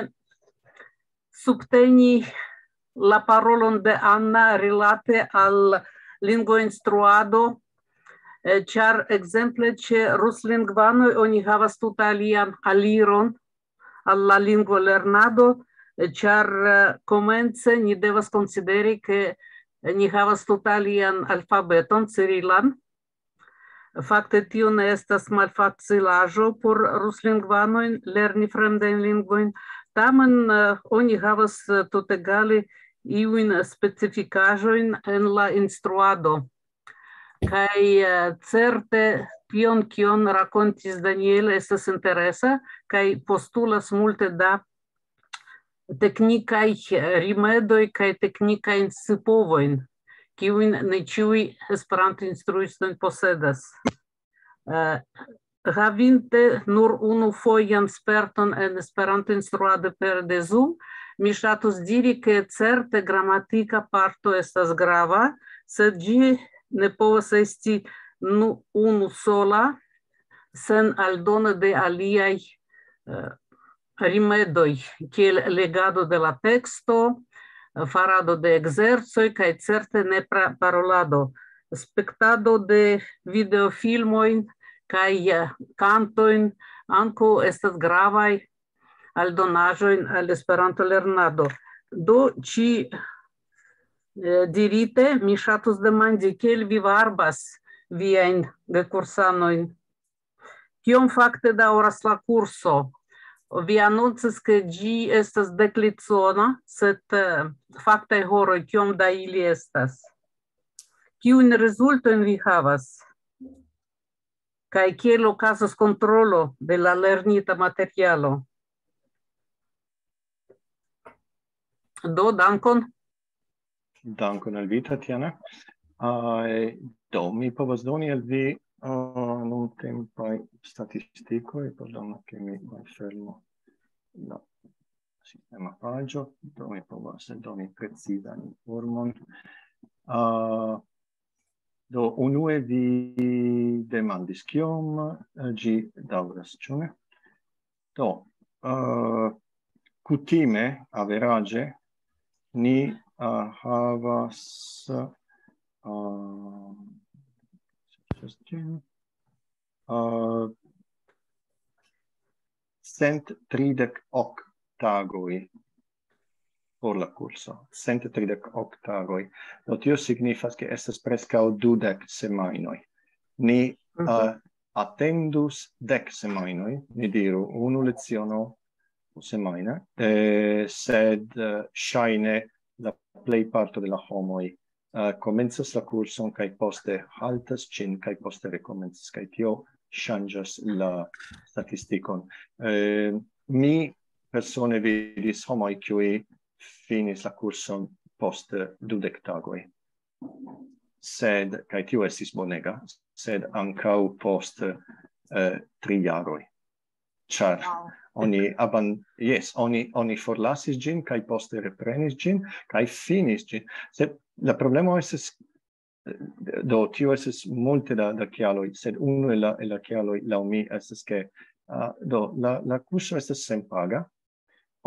subteni la parolon de Anna rilate al lingvoinstruado, eh, ĉar ekzemple ĉe ruslingvanoj oni havas tute alian aliron al la lingvolernado, eh, ĉar eh, komence ni devas konsideri, ke ni havas tute alian alfabeton, cirilan. Fakte tio ne estas malfacilaĵo por ruslingvanojn lerni fremdajn lingvojn. Tamen eh, oni havas eh, tutegale iujn specifikaĵojn en la instruado. Kaj eh, certe tion, kion rakontis Daniel, estas interesa kaj postulas multe da teknikaj eh, rimedoj kaj teknikajn scipovojn, kiujn ne ĉiuj Esperanto-instruistoj posedas. Eh, havinte nur unu fojan sperton en Esperanto-instruado pere de Zoom, mi ŝatus diri, ke certe gramatika parto estas grava, sed ĝi ne povas esti nu, unu sola, sen aldono de aliaj eh, rimedoj, kiel legado de la teksto, farado de ekzercoj kaj certe nepra parolado. Spektado de videofilmojn kaj eh, kantojn ankaŭ estas gravaj aldonaĵojn al Esperanto-lernado. Do, ĉi eh, dirite, mi ŝatus demandi, kiel vi varbas viajn gekursanojn? Kiom fakte daŭras la kurso? Vi anoncis, ke ĝi estas deklecona, sed eh, faktaj horoj, kiom da ili estas? Kiujn rezultojn vi havas? Kaj kiel okazas kontrolo de la lernita materialo? Do, dankon. Dankon al vi, Tatiana. Uh, do, mi povas doni al vi uh, nuntempaj statistikoj, pardonu, ke mi malfermo. No. sistema paĝo, do mi povas doni precizan informon. Uh, do, unue vi demandis, kiom eh, ĝi daŭras, ĉu ne? Do, uh, kutime, averaĝe, ni uh, havas uh, uh, cent tridek ok tagoj por la kurso. Cent tridek ok tagoj. Do tio signifas, ke estas preskaŭ dudek semajnoj. Ni uh, atendus dek semajnoj, ni diru, unu leciono semajne, eh, sed eh, ŝajne la plej parto de la homoj eh, komencas la kurson kaj poste haltas ĝin kaj poste rekomencas, kaj tio ŝanĝas la statistikon. Eh, mi persone vidis homoj, kiuj finis la kurson post dudek tagoj. Sed, kaj tio estis bonega, sed ankaŭ post eh, tri jaroj. Ĉar Wow. oni aban yes, oni oni forlasis ĝin kaj poste reprenis ĝin kaj finis ĝin. Sed la problemo estas eh, do tio estas multe da, da kialoj, sed unu el la, el la kialoj laŭ mi estas, ke uh, do la, la kurso estas senpaga,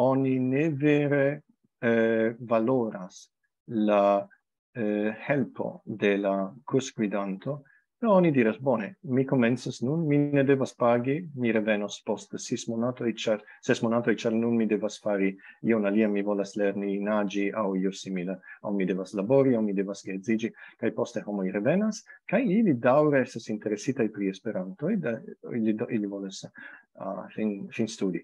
oni ne vere eh, valoras la eh, helpo de la kursgvidanto, do oni diras: "Bone, mi komencas nun, mi ne devas pagi, mi revenos post ses monatoj, ĉar ses monatoj, ĉar nun mi devas fari ion alian, mi volas lerni naĝi aŭ io simila, aŭ mi devas labori, aŭ mi devas geedziĝi", kaj poste homoj revenas, kaj ili daŭre estas interesitaj pri Esperanto, da, ili, do- ili volas uh, fin, fin studi.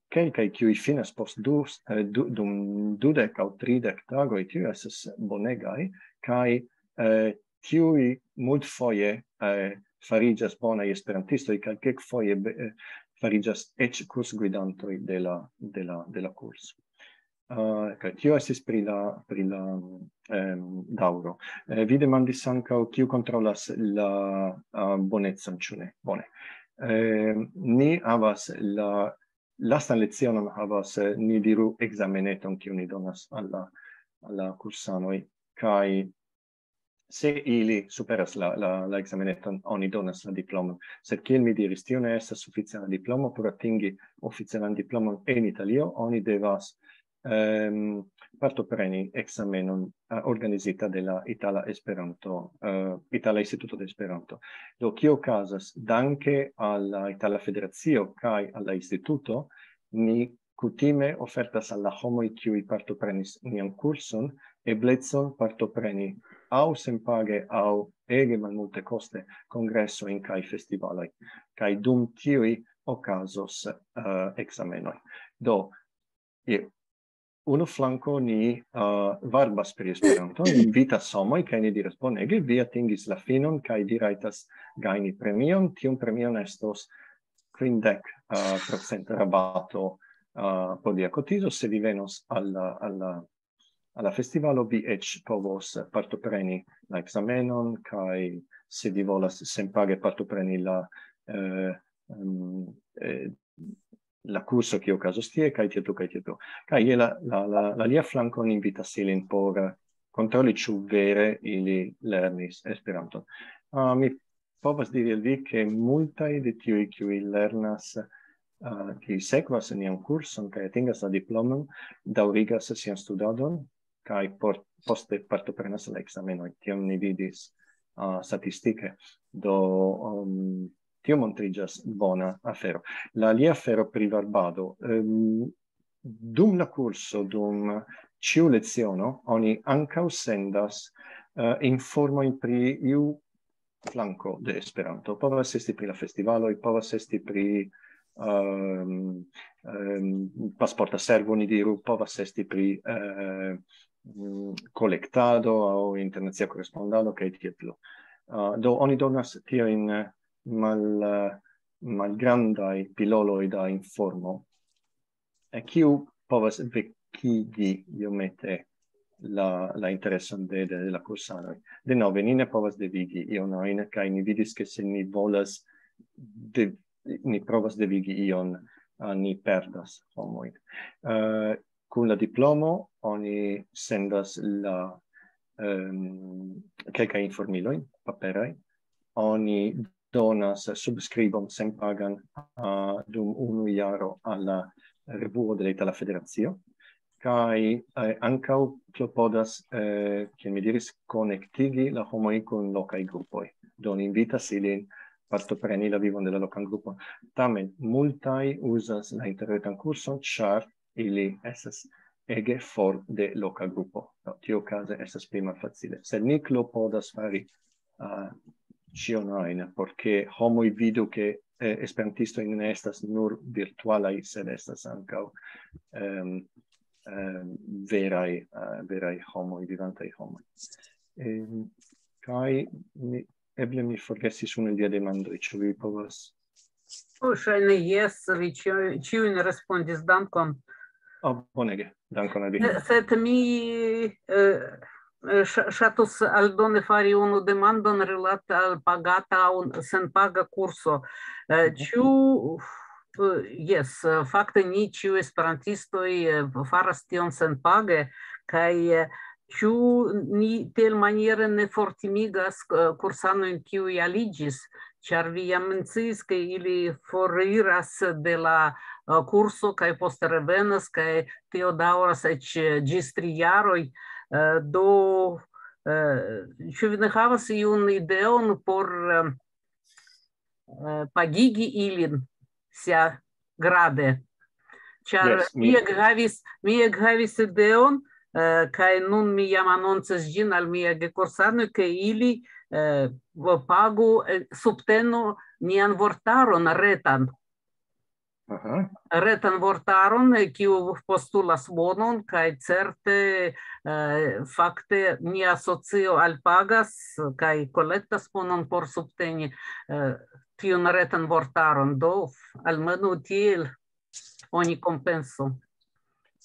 Kelkaj, kiuj finas post du, eh, du, dum dudek aŭ tridek tagoj, tiuj estas bonegaj, kaj eh, tiuj multfoje eh, fariĝas bonaj esperantistoj, kaj kelkfoje be- eh, fariĝas eĉ kursgvidantoj de la, de la, de la kurso. Uh, kaj tio estis pri la, pri la um, daŭro. Eh, vi demandis ankaŭ, kiu kontrolas la uh, bonecon, ĉu ne? Bone. Eh, ni havas la lastan lecionon havas, eh, ni diru, ekzameneton, kiu ni donas al la, al la kursanoj, kaj se ili superas la, la, la ekzameneton, oni donas la diplomon. Sed kiel mi diris, tio ne estas oficiala diplomo. Por atingi oficialan diplomon en Italio, oni devas ehm, partopreni ekzamenon eh, organizita de la Itala Esperanto, eh, Itala Instituto de Esperanto. Do, kio okazas? Danke al la Itala Federacio kaj al la instituto, ni kutime ofertas al la homoj, kiuj partoprenis nian kurson, eblecon partopreni aŭ senpage aŭ ege malmulte koste kongresojn kaj festivaloj. Kaj dum tiuj okazos uh, ekzamenoj. Do, je unu flanko ni uh, varbas pri Esperanto, ni invitas homoj kaj ni diras: "Bonege, vi atingis la finon kaj vi rajtas gajni premion. Tiun premion estos kvindek uh, procent rabato uh, por via kotizo, se vi venos al, al, al la festivalo, vi eĉ povos partopreni la ekzamenon, kaj se vi volas senpage partopreni la, eh, um, eh, la kurso, kiu okazos tie, kaj tie plu, kaj tie plu." Kaj je la, la, la, la lia flanko ni invitas ilin por eh, kontroli, ĉu vere ili lernis Esperanton. Uh, mi povas diri al vi, ke multaj de tiuj, kiuj lernas, uh, kiuj sekvas nian kurson kaj atingas la diplomon, daŭrigas sian studadon kaj por, poste partoprenas la ekzamenoj. Tion ni vidis uh, statistike. Do, um, tio montriĝas bona afero. La alia afero pri varbado. Um, dum la kurso, dum ĉiu leciono, oni ankaŭ sendas uh, informojn pri iu flanko de Esperanto. Povas esti pri la festivaloj, povas esti pri um, um, pasporta servo, ni diru, povas esti pri uh, kolektado aŭ internacia korespondado, kaj tiel plu. Uh, do oni donas tiajn mal, malgrandaj piloloj da informo, kiu povas vekigi iomete la, la intereson de, de, de la kursanoj. Denove, ni ne povas devigi ion ajn, kaj ni vidis, ke se ni volas, de, ni provas devigi ion, uh, ni perdas homojn. Uh, kun la diplomo oni sendas la um, kelkaj informilojn paperaj, oni donas subskribon senpagan uh, dum unu jaro al la revuo de la Itala Federacio, kaj eh, ankaŭ klopodas, eh, kiel mi diris, konektigi la homojn kun lokaj grupoj. Do ni invitas ilin partopreni la vivon de la lokan grupon. Tamen multaj uzas la interretan kurson, ĉar ili estas ege for de loka grupo. No, tio okaze estas pli malfacile. Sed ni klopodas fari uh, ĉion ajn, por ke homoj vidu, ke eh, esperantistoj ne estas nur virtualaj, sed estas ankaŭ um, um, veraj, uh, veraj homoj, vivantaj homoj. Um, kaj mi, eble mi forgesis unu el via demandoj, ĉu vi povas? Oh, ŝajne jes, vi ĉiujn respondis, dankon. Oh, bonege, dankon al vi. Sed mi eh, ŝatus aldone fari unu demandon rilate al pagata aŭ senpaga kurso. Eh, mhm. Ĉu, jes, fakte ni ĉiuj esperantistoj eh, faras tion senpage, kaj eh, ĉu ni tiel maniere ne fortimigas eh, kursanojn, kiuj aliĝis, ĉar vi jam menciis, ke ili foriras de la eh, kurso kaj poste revenas, kaj tio daŭras eĉ eh, ĝis tri jaroj. Eh, Do, eh, ĉu vi ne havas iun ideon por eh, eh, pagigi ilin sia grade? Ĉar yes, mi ekhavis, mi ekhavis ideon, eh, kaj nun mi jam anoncas ĝin al mia gekursanoj, ke ili eh, pagu, eh, subtenu nian vortaron retan. Aha. Retan vortaron, eh, kiu postulas bonon, kaj certe eh, fakte nia asocio alpagas kaj kolektas bonon por subteni eh, tiun retan vortaron. Do, almenaŭ tiel oni kompensu.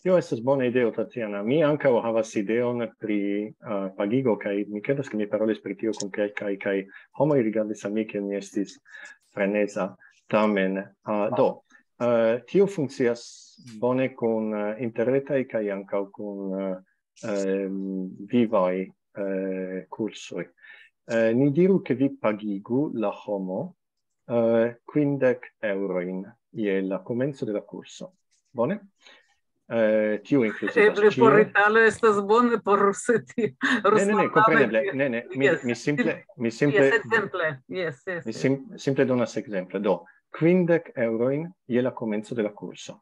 Tio estas bona ideo, Tatiana. Mi ankaŭ havas ideon pri uh, pagigo, kaj mi kredas, ke mi parolis pri tio kun kelkaj, kaj homoj rigardis al mi, ke mi estis freneza. Tamen, uh, do, uh, tio funkcias bone kun uh, interretaj kaj ankaŭ kun uh, um, vivaj uh, kursoj. Uh, ni diru, ke vi pagigu la homo uh, quindec euroin je la komenco de la kurso. Bone? Uh, tio inkluzivas. Eble por Italo estas bone, por Rusio. Ne, ne, ne, kompreneble. Ne, ne, mi, yes. mi simple, mi simple, yes, exemple. Yes, yes, mi sim, simple donas exemple. Do, quindec euroin je la komenco de la kurso.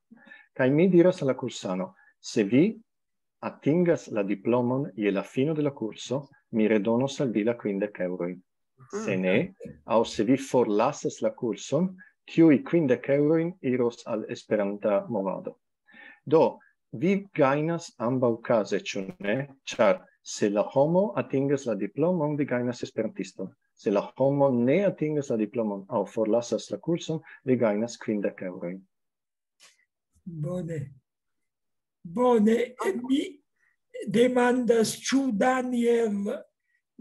Kaj mi diras al la kursano, se vi atingas la diplomon je la fino de la kurso, mi redonos al vi la quindec eurojn. Se ne, aŭ se vi forlasas la kurson, tiuj quindec eurojn iros al Esperanta movado. Do, vi gajnas ambaŭ kaze, ĉu ne? Ĉar se la homo atingas la diplomon, vi gajnas esperantiston. Se la homo ne atingas la diplomon aŭ forlasas la kurson, vi gajnas quindec eurojn. Bone. Bone, mi demandas, ĉu Daniel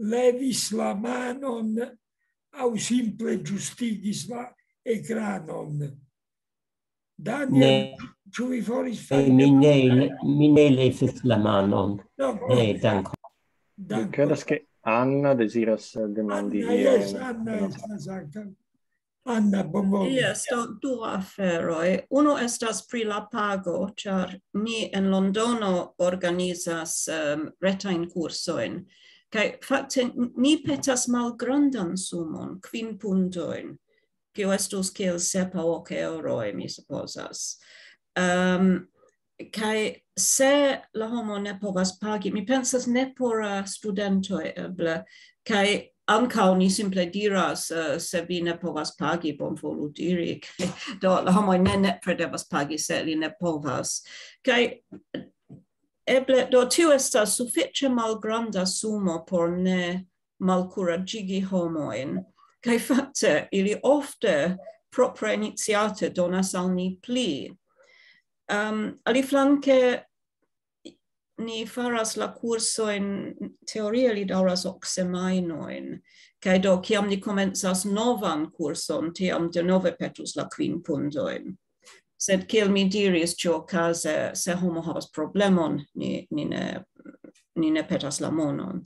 levis la manon aŭ simple ĝustigis la ekranon. Daniel, ne. Ĉu vi faris fajne? Mi ne, mi ne levis la manon. No, ne, dankon. Credas che Anna desiras demandi. Anna, yes, Anna estas ankaŭ. Anna, bonvolu. Yes, do, du aferoj. Unu estas pri la pago, ĉar ni en Londono organizas um, retajn kursojn. Kaj fakte ni petas malgrandan sumon, kvin puntojn, kiu estus kiel sep aŭ ok euroj, mi supozas. Um, kaj se la homo ne povas pagi, mi pensas ne por uh, studentoj eble, kaj ankaŭ ni simple diras, uh, se vi ne povas pagi, bonvolu diri. Do la homoj ne nepre devas pagi, se li ne povas. Kaj eble, do tio estas sufiĉe malgranda sumo por ne malkuraĝigi homojn. Kaj fakte, ili ofte propre iniciate donas al ni pli. Um, aliflanke, ni faras la kursojn, teorie li daŭras ok semajnojn, kaj do kiam ni komencas novan kurson, tiam denove petus la kvin puntojn. Sed kiel mi diris, ĉiuokaze, se homo havas problemon, ni, ni ne, ni ne petas la monon.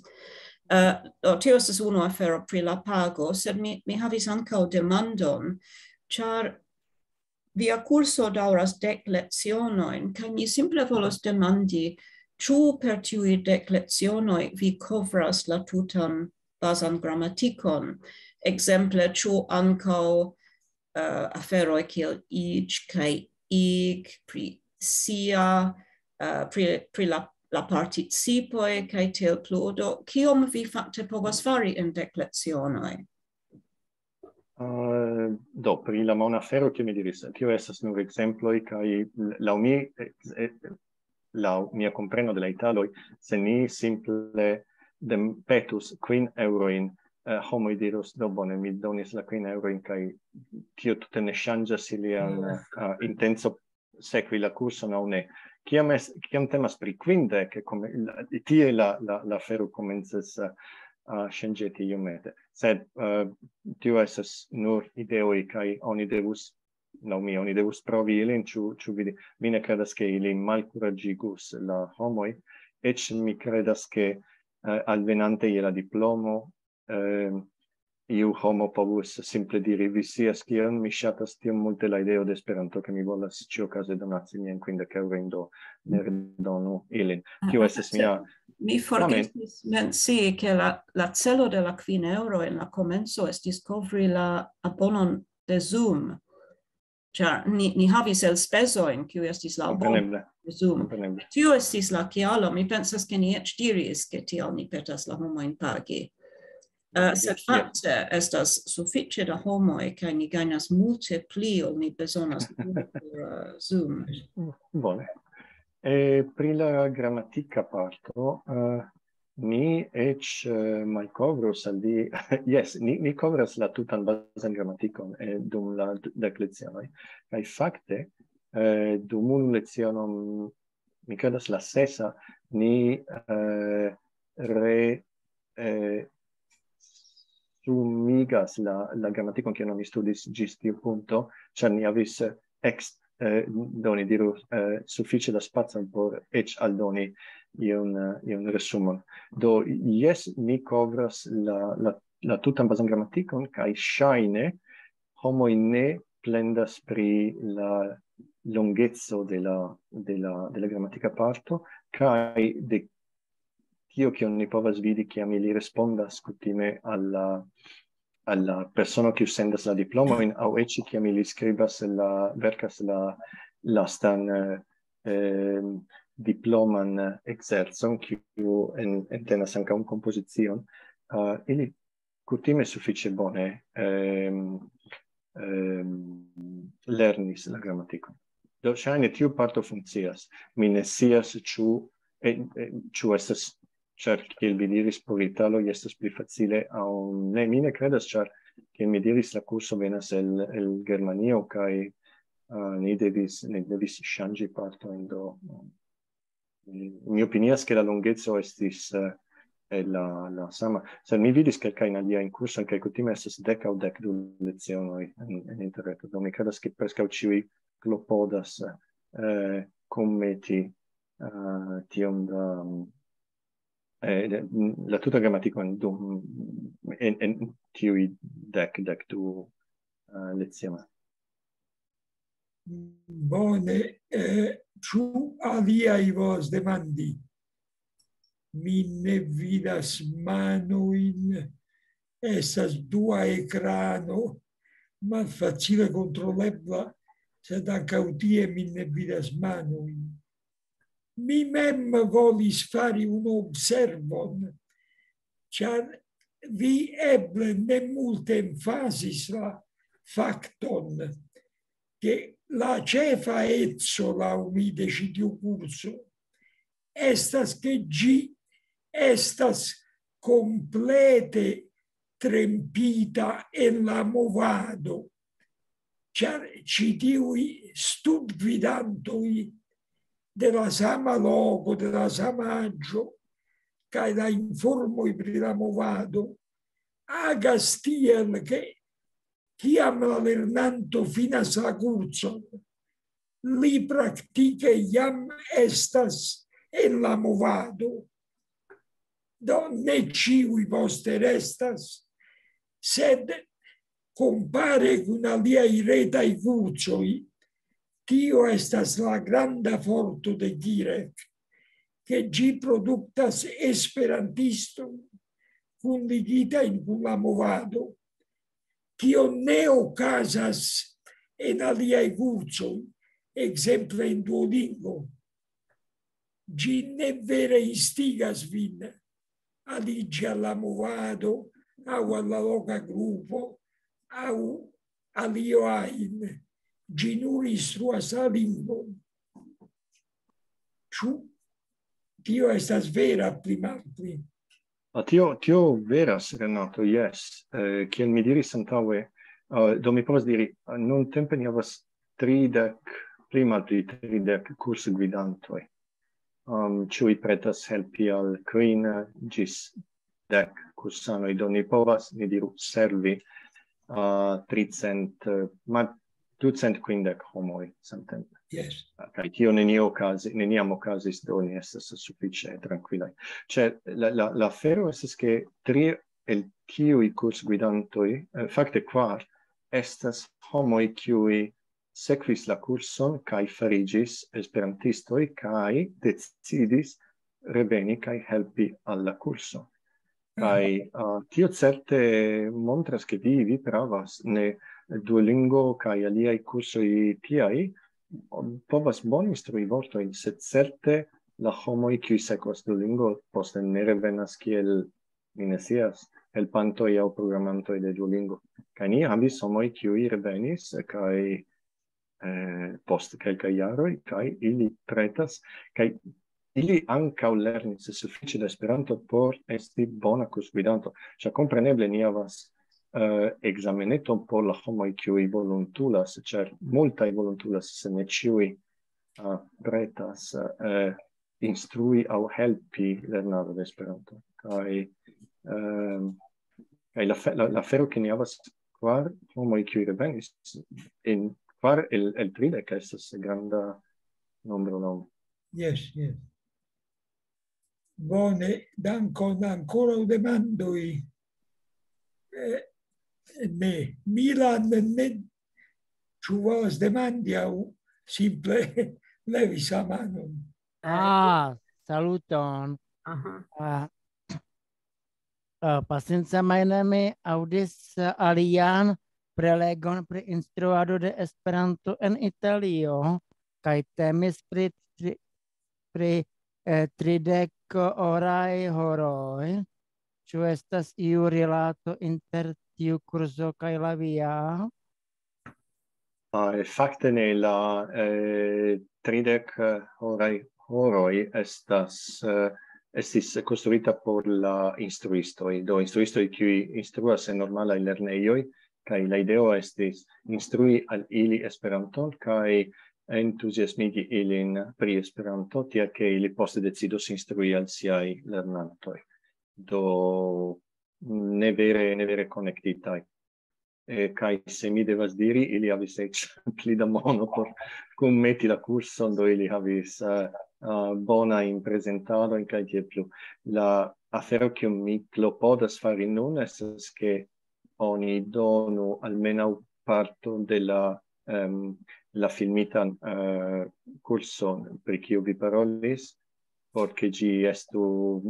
Uh, do, tio estas unu afero pri la pago, sed mi, mi havis ankaŭ demandon, ĉar via kurso daŭras dek lecionojn, kaj mi simple volas demandi, ĉu per tiuj dek lecionoj vi kovras la tutan bazan gramatikon? Ekzemple, ĉu ankaŭ uh, aferoj kiel iĝ kaj ig, pri sia, uh, pri, pri la, la participoj kaj tiel plu. Do, kiom vi fakte povas fari en dek lecionoj? Uh, do, pri la mona afero, kiel mi diris, tio estas nur ekzemploj, kaj laŭ mi, eh, eh, laŭ mia kompreno de la italoj, se ni simple dem-, petus kvin eŭrojn, eh, homoj dirus, do bone, mi donis la kvin eŭrojn, kaj tio tute ne ŝanĝas ilian, eh, intenco sekvi la kurson aŭ ne. Kiam es-, kiam temas pri kvindek, kome-, la, tie la, la, la afero komencas, eh, eh, ŝanĝeti iomete. Sed, eh, tio estas nur ideoj, kaj oni devus, laŭ mi, oni devus provi ilin, ĉu, ĉu vidi. Mi ne kredas, ke ili malkuraĝigus la homoj, eĉ mi kredas, ke, eh, alvenante je la diplomo, eh, iu homo povus simple diri, vi scias kion, mi ŝatas tiom multe la ideo de Esperanto, ke mi volas ĉiuokaze donaci miajn kvindek eŭrojn, do ne redonu ilin. Tio estas mia... Mi forgesis mencii, ke la, la celo de la kvin eŭro en la komenco estis kovri la abonon de Zoom. Ĉar ni, ni havis elspezojn, kiuj estis la abono Kompreneble. de Zoom. Kompreneble. Tio estis la kialo. Mi pensas, ke ni eĉ diris, ke tial ni petas la homojn pagi. Eh, sed fakte estas sufiĉe da homoj, kaj ni gajnas multe pli, ol ni bezonas por, eh, Zoom. Bone. E pri la gramatika parto, eh, mi eĉ, eh, malkovros al vi, jes, ni, ni kovras la tutan bazan gramatikon, eh, dum la d-, dek lecionoj. Kaj fakte, eh, dum unu lecionon, mi kredas la sesa, ni, eh, re, eh, sumigas la, la gramatikon, kiun oni studis ĝis tiu punkto, ĉar ni havis, eh, ex-, eh, do ni diru, eh, sufiĉe da spacon por eĉ aldoni iun, eh, iun resumon. Do, jes, ni kovras la, la, la tutan bazan gramatikon, kaj ŝajne homoj ne plendas pri la longeco de la, de la, de la gramatika parto, kaj de tio, kion ni povas vidi, kiam ili respondas kutime al la, al la persono, kiu sendas la diplomojn, aŭ eĉ kiam ili skribas la, verkas la lastan, eh, eh, diploman ekzercon, kiu en-, entenas ankaŭ kompozicion, eh, ili kutime sufiĉe bone, ehm, ehm, lernis la gramatikon. Do, ŝajne tiu parto funkcias. Mi ne scias, ĉu, eh, eh, ĉu estas, ĉar, kiel vi diris, por italoj estas pli facile aŭ ne. Mi ne kredas, ĉar, kiel mi diris, la kurso venas el, el Germanio, kaj, eh, ni devis, ni devis ŝanĝi partojn, do, mm, mi opinias, ke la longeco estis, eh, eh, la, la sama. Sed mi vidis kelkajn aliajn kursojn, kaj kutime estas dek aŭ dek du lecionoj en, en interreto. Do mi kredas, ke preskaŭ ĉiuj klopodas, eh, kunmeti, eh, tiom da, eh, de, la tuta gramatikon dum, en, en tiuj dek, dek du, eh, lecionoj. Bone, eh, ĉu aliaj volas demandi? Mi ne vidas manojn, estas dua ekrano, malfacile kontrolebla, sed ankaŭ tie mi ne vidas manojn. Mi mem volis fari unu observon, ĉar vi eble ne multe emfazis la fakton, ke la ĉefa eco laŭ mi de ĉi tiu kurso estas, ke ĝi estas komplete trempita en la movado, ĉar ĉi tiuj studgvidantoj de la sama loko, de la sama aĝo, kaj la informoj pri la movado agas tiel, ke kiam la lernanto finas la kurson, li praktike jam estas en la movado. Do ne ĉiuj poste restas, sed kompare kun aliaj retaj kursoj, tio estas la granda forto de Girek, ke ĝi produktas esperantistojn kunligitajn kun la movado. Tio ne okazas en aliaj kursoj, ekzemple en Duolingo. Ĝi ne vere instigas vin aliĝi al la movado aŭ al la loka grupo aŭ al io ajn. Ĝi nur instruas la lingvon. Ĉu tio estas vera, pli malpli? Ah, tio, tio veras, Renato, jes. Eh, kiel mi diris antaŭe, eh, do mi povas diri, eh, nuntempe ni havas tridek, pli malpli tridek kursgvidantoj. Um, ĉiuj pretas helpi al kvin ĝis dek kursanoj, do ni povas, ni diru, servi uh, tricent, eh, ma ducent kvindek homoj samtempe. Yes. Kaj tio nenio okazi-, neniam okazis, do ni estas sufiĉe trankvilaj. Ĉe la, la, la afero estas, ke tri el tiuj kursgvidantoj, eh, fakte kvar, estas homoj, kiuj sekvis la kurson kaj fariĝis esperantistoj kaj decidis reveni kaj helpi al la kurso. Kaj, ah, tio certe montras, ke vi, vi pravas, ne, Duolingo kaj aliaj kursoj tiaj, um, povas bone instrui vortojn, sed certe la homoj, kiuj sekvas Duolingo, poste ne revenas kiel, mi ne scias, helpantoj aŭ programantoj de Duolingo. Kaj ni havis homoj, kiuj revenis, kaj, eh, post kelkaj jaroj, kaj ili pretas, kaj ili ankaŭ lernis sufiĉe da Esperanto por esti bona kursgvidanto. Ĉar kompreneble ni havas, eh, ekzameneton por la homoj, kiuj volontulas, ĉar multaj volontulas, sed ne ĉiuj, ah, pretas, eh, instrui aŭ helpi lernado de Esperanto. Kaj, ehm, kaj la fe-, la, la afero, ke ni havas kvar homoj, kiuj revenis, en kvar el, el tridek estas granda nombro, no? Yes, yes. Bone, dankon, ankoraŭ demandoj. Eh, ne, Milan ne, ĉu volas demandi aŭ simple levis la manon? Ah, saluton. Aha. Ah, ah, pasinca majne mi aŭdis, ah, alian prelegon pri instruado de Esperanto en Italio, kaj temis pri tri-, pri, eh, tridek oraj horoj. Ĉu estas iu rilato inter tiu kurso kaj la via? Ah, fakte ne, la, eh, tridek, eh, horaj horoj estas, eh, estis konstruita por la instruistoj. Do instruistoj, kiuj instruas en normalaj lernejoj, kaj la ideo estis instrui al ili Esperanton kaj entuziasmigi ilin pri Esperanto, tiel ke ili poste decidos instrui al siaj lernantoj. Do ne vere, ne vere konektitaj. Eh, kaj se mi devas diri, ili havis eĉ pli da mono por kunmeti la kurson, do ili havis, eh, eh, bonajn prezentadojn kaj tiel plu. La afero, kiun mi klopodas fari nun, estas, ke oni donu almenaŭ parto de la, em, la filmitan, eh, kurson, pri kiu vi parolis, por ke ĝi estu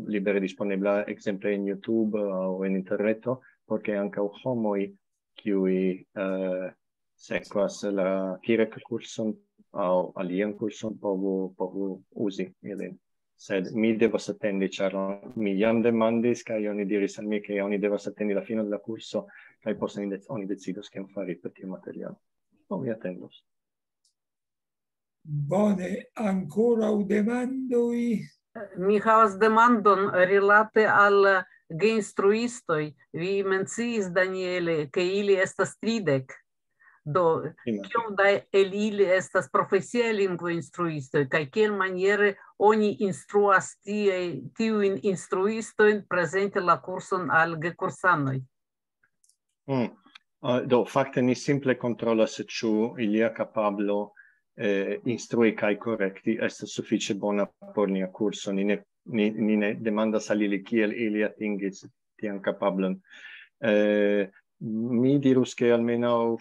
libere disponebla, ekzemple en YouTube aŭ en interreto, por ke ankaŭ homoj, kiuj, eh, sekvas la Kirek-kurson aŭ alian kurson, povu, povu uzi ilin. Sed mi devas atendi, ĉar mi jam demandis, kaj oni diris al mi, ke oni devas atendi la finon de la kurso, kaj poste oni dec-, oni decidos, kion fari per tiu materialo. Do mi atendos. Bone, ankoraŭ demandoj? Mi havas demandon rilate al geinstruistoj. Vi menciis, Daniele, ke ili estas tridek. Do, Imagine. Kiom da el ili estas profesiaj lingvoinstruistoj, kaj kiel maniere oni instruas tie, tiujn instruistojn prezenti la kurson al gekursanoj? Mm. Ah, do, fakte ni simple kontrolas, ĉu ilia kapablo, eh, instrui kaj korekti estas sufiĉe bona por nia kurso. Ni ne, ni, ni ne demandas al ili kiel ili atingis tian kapablon. Eh, mi dirus, ke almenaŭ,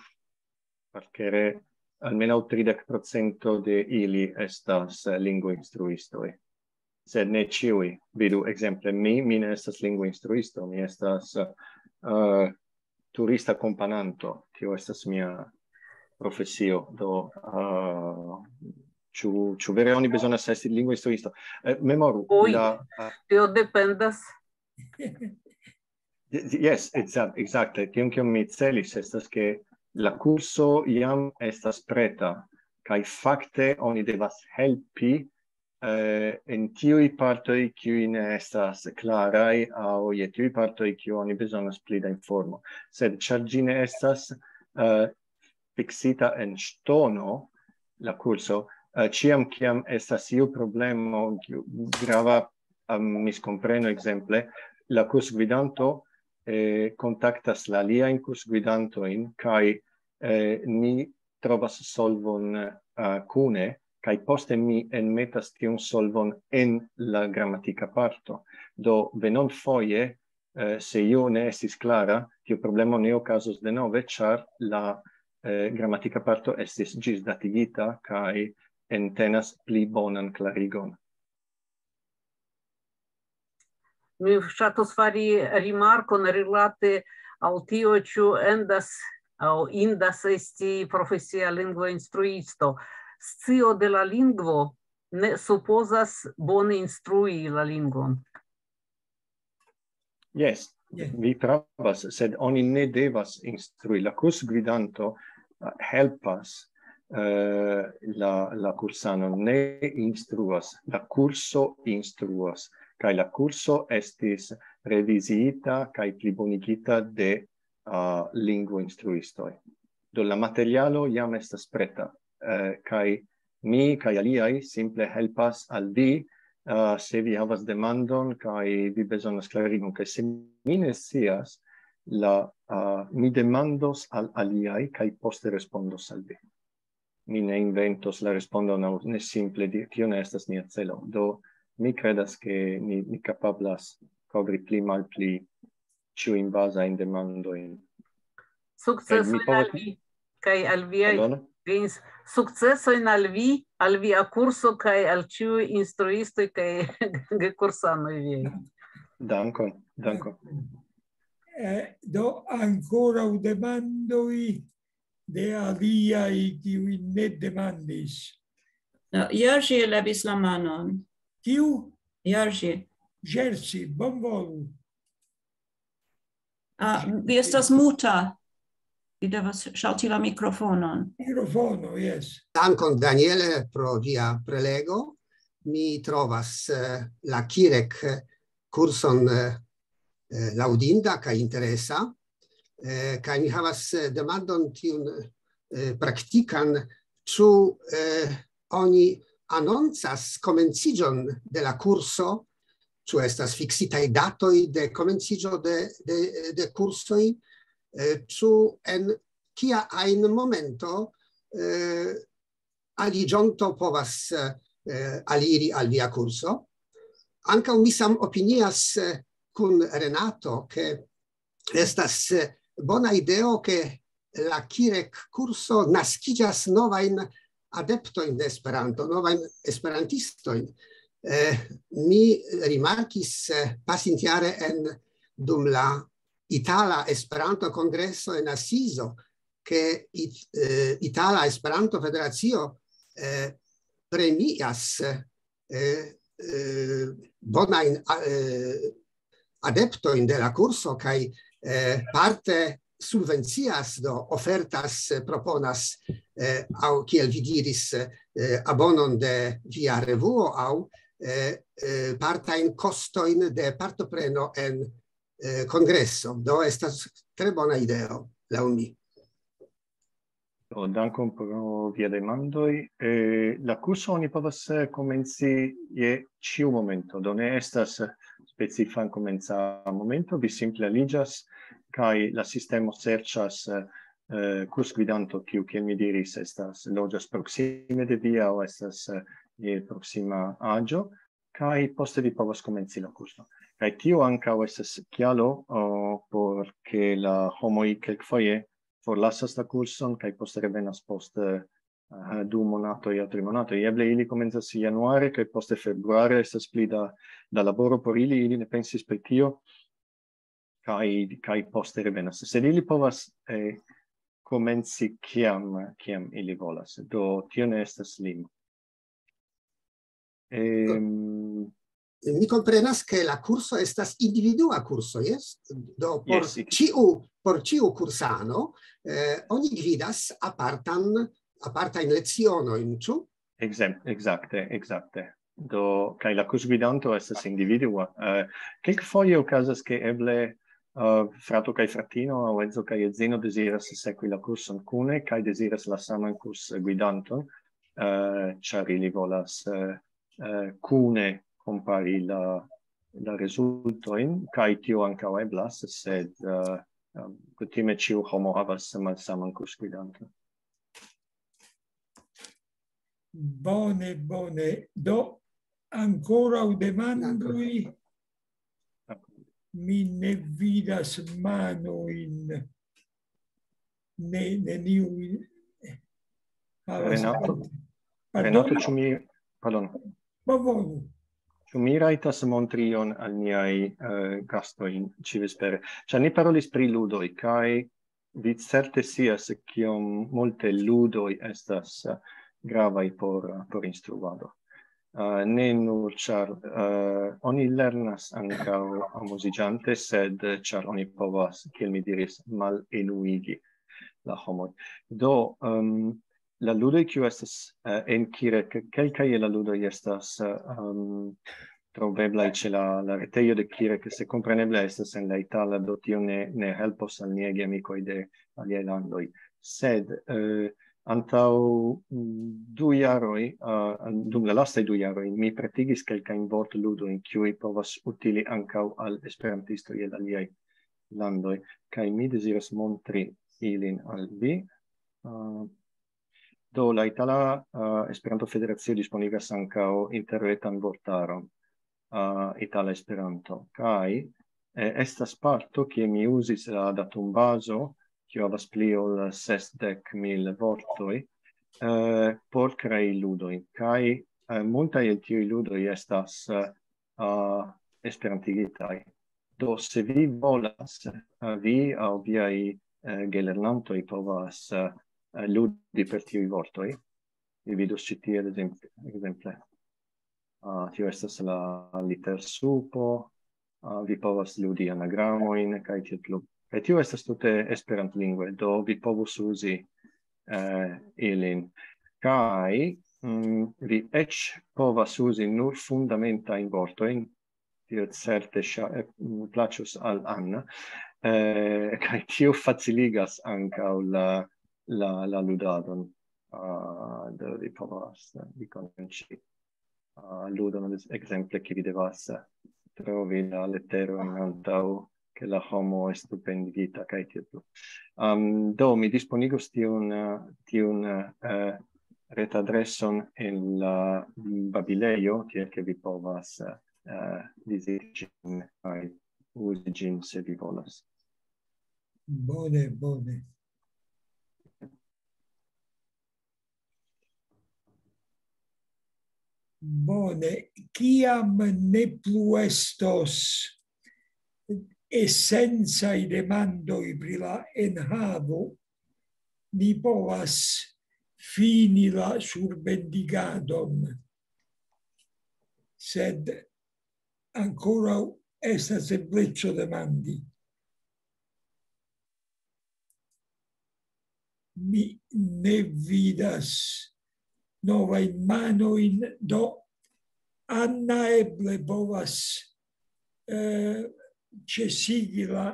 parkere, almenaŭ tridek procento de ili estas, eh, lingvoinstruistoj. Sed ne ĉiuj. Vidu, ekzemple, mi, mi ne estas lingvoinstruisto, mi estas, eh, turista kompananto. Tio estas mia profesio. Do, eh, ĉu, ĉu vere oni bezonas esti lingvoinstruisto? Eh, memoru, Ui. la, eh, Tio dependas. Yes, exact-, exacte. Tion, kion mi celis, estas, ke la kurso jam estas preta, kaj fakte oni devas helpi, eh, en tiuj partoj, kiuj ne estas klaraj, aŭ je tiuj partoj, kiu oni bezonas pli da informo. Sed ĉar ĝi ne estas, eh, fiksita en ŝtono, la kurso, eh, ĉiam, kiam estas iu problemo, kiu grava, am, miskompreno, ekzemple, la kursgvidanto, eh, kontaktas la aliajn kursgvidantojn, kaj, eh, ni trovas solvon, eh, kune, kaj poste mi enmetas tiun solvon en la gramatika parto. Do, venonfoje, eh, se io ne estis klara, tiu problemo ne okazos denove, ĉar la, eh, gramatika parto estis ĝisdatigita kaj entenas pli bonan klarigon. Mi ŝatus fari rimarkon rilate al tio, ĉu endas aŭ indas esti profesia lingvoinstruisto. Scio de la lingvo ne supozas bone instrui la lingvon. Yes, Yes. vi pravas, sed oni ne devas instrui. La kursgvidanto, eh, helpas, eh, la, la kursanon, ne instruas. La kurso instruas, kaj la kurso estis reviziita kaj plibonigita de, ah, lingvoinstruistoj. Do la materialo jam estas preta, eh, kaj mi kaj aliaj simple helpas al vi, ah, se vi havas demandon kaj vi bezonas klarigon, kaj se mi ne scias, la, ah, mi demandos al aliaj kaj poste respondos al vi. Mi ne inventos la respondon aŭ ne simple di-, tio ne estas nia celo. Do mi kredas, ke ni, ni kapablas kovri pli malpli ĉiujn bazajn demandojn. Sukcesojn Kaj mi povas al vi, kaj al viaj Pardon? Gens-, sukcesojn al vi, al via kurso, kaj al ĉiuj instruistoj kaj kursanoj viaj. Dankon, dankon. Eh, do ankoraŭ demandoj de aliaj, kiuj ne demandis. No, Jerzy levis la manon. Kiu? Jerzy. Jerzy, bonvolu. Ah, vi estas muta. Vi devas ŝalti la mikrofonon. Mikrofono, yes. Dankon, Daniele, pro via prelego. Mi trovas, eh, la Kirek kurson, eh, eh, laŭdinda kaj interesa. Eh, kaj mi havas, eh, demandon tiun, eh, praktikan, ĉu, eh, oni anoncas komenciĝon de la kurso, ĉu estas fiksitaj datoj de komenciĝo de, de, de kursoj, eh, ĉu en kia ajn momento, eh, aliĝonto povas, eh, aliri al via kurso. Ankaŭ mi sam opinias, eh, kun Renato, ke estas, eh, bona ideo, ke la Kirek kurso naskiĝas novajn adeptojn de Esperanto, novajn esperantistojn. Eh, mi rimarkis, eh, pasintjare en, dum la Itala Esperanto-Kongreso en Asizo, ke it-, eh, Itala Esperanto-Federacio, eh, premias, eh, eh, bonajn, eh, adeptojn de la kurso kaj, eh, parte subvencias, do ofertas, eh, proponas, eh, aŭ kiel vi diris, eh, abonon de via revuo aŭ, eh, eh, partajn kostojn de partopreno en, eh, kongreso. Do estas tre bona ideo, laŭ mi. Do, dankon pro via demandoj. Eh, la kurso oni povas, eh, komenci je ĉiu momento. Do ne estas specifa komenca momento. Vi simple aliĝas kaj la sistemo serĉas, eh, eh, kursgvidanto, kiu, kiel mi diris, estas, loĝas proksime de vi aŭ estas, eh, je proksima aĝo, kaj poste vi povas komenci la kurson. Kaj tio ankaŭ estas kialo, o, por ke la homoj kelkfoje forlasas la kurson kaj poste revenas post, eh, du monatoj aŭ tri monatoj. Eble ili komencas januare kaj poste februare estas pli da, da laboro por ili, ili ne pensis pri tio, kaj, kaj poste revenas. Sed ili povas, eh, komenci kiam, kiam ili volas. Do tio ne estas limo. Ehm, Mi komprenas, ke la kurso estas individua kurso, jes? Do por Jes, ik- ĉiu, por ĉiu kursano, eh, oni gvidas apartan, apartajn lecionojn, ĉu? Ekzem-, ekzakte, ekzakte. Do, kaj la kursgvidanto estas individua. Eh, kelkfoje okazas, ke eble, eh, frato kaj fratino, aŭ edzo kaj edzino deziras sekvi la kurson kune kaj deziras la saman kursgvidanton, eh, ĉar ili volas, eh, eh, kune kompari la, la rezultojn, kaj tio ankaŭ eblas, sed, eh, eh, kutime ĉiu homo havas malsaman kursgvidanton. Bone, bone. Do, ankoraŭ demandoj? Mi ne vidas manojn. Ne, neniu havas. Renato, Pardon? Renato, ĉu mi, pardon, Bonvolu. Ĉu mi rajtas montri ion al niaj, eh, gastoj ĉivespere? Ĉar ni parolis pri ludoj, kaj vi certe scias, kiom multe ludoj estas, eh, gravaj por, por instruado. Eh, ne nur ĉar, eh, oni lernas ankaŭ amuziĝante, sed ĉar oni povas, kiel mi diris, malenuigi la homoj. Do, ehm, la ludoj, kiu estas, eh, en Kirek, kelkaj el la ludoj estas, eh, ehm, troveblaj ĉe la, la retejo de Kirek, se kompreneble estas en la itala, do tio ne, ne helpos al niaj amikoj de aliaj landoj. Sed, eh, antaŭ, mm, du jaroj, eh, dum la lastaj du jaroj, mi pretigis kelkajn vortludojn, kiuj povas utili ankaŭ al esperantistoj el aliaj landoj, kaj mi deziras montri ilin al vi. Eh, do, la Itala, eh, Esperanto-Federacio disponigas ankaŭ interretan vortaron, eh, Itala Esperanto, kaj, eh, estas parto, kie mi uzis la datumbazo, kiu havas pli ol sesdek mil vortoj, eh, por krei ludojn, kaj, eh, multaj el tiuj ludoj estas, eh, eh, esperantigitaj. Do, se vi volas, eh, vi aŭ viaj, eh, gelernantoj povas, eh, ludi per tiuj vortoj. Vi vidus ĉi tie, ekzemple. Ah, tio estas la litersupo. Ah, vi povas ludi anagramojn kaj tiel plu. Kaj tio estas tute esperantlingve, do vi povus uzi, eh, ilin. Kaj, mm, vi eĉ povas uzi nur fundamentajn vortojn, tio certe ŝa-, eh, mm, plaĉus al Anna, eh, kaj tio faciligas ankaŭ la, la, la ludadon. Ah, do vi povas, eh, vi komenci, ah, ludon, ekzemple, ke vi devas, eh, trovi la leteron antaŭ ke la homo estu pendigita kaj tiel plu. Am, do, mi disponigos tiun, eh, tiun, eh, retadreson en la babilejo, tiel ke vi povas, eh, viziti ĝin kaj uzi ĝin, se vi volas. Bone, bone. Bone, kiam ne plu estos esencaj demandoj pri la enhavo, ni povas fini la surbendigadon. Sed ankoraŭ estas ebleco demandi. Mi ne vidas novajn manojn, do Anna eble povas, eh, ĉesigi la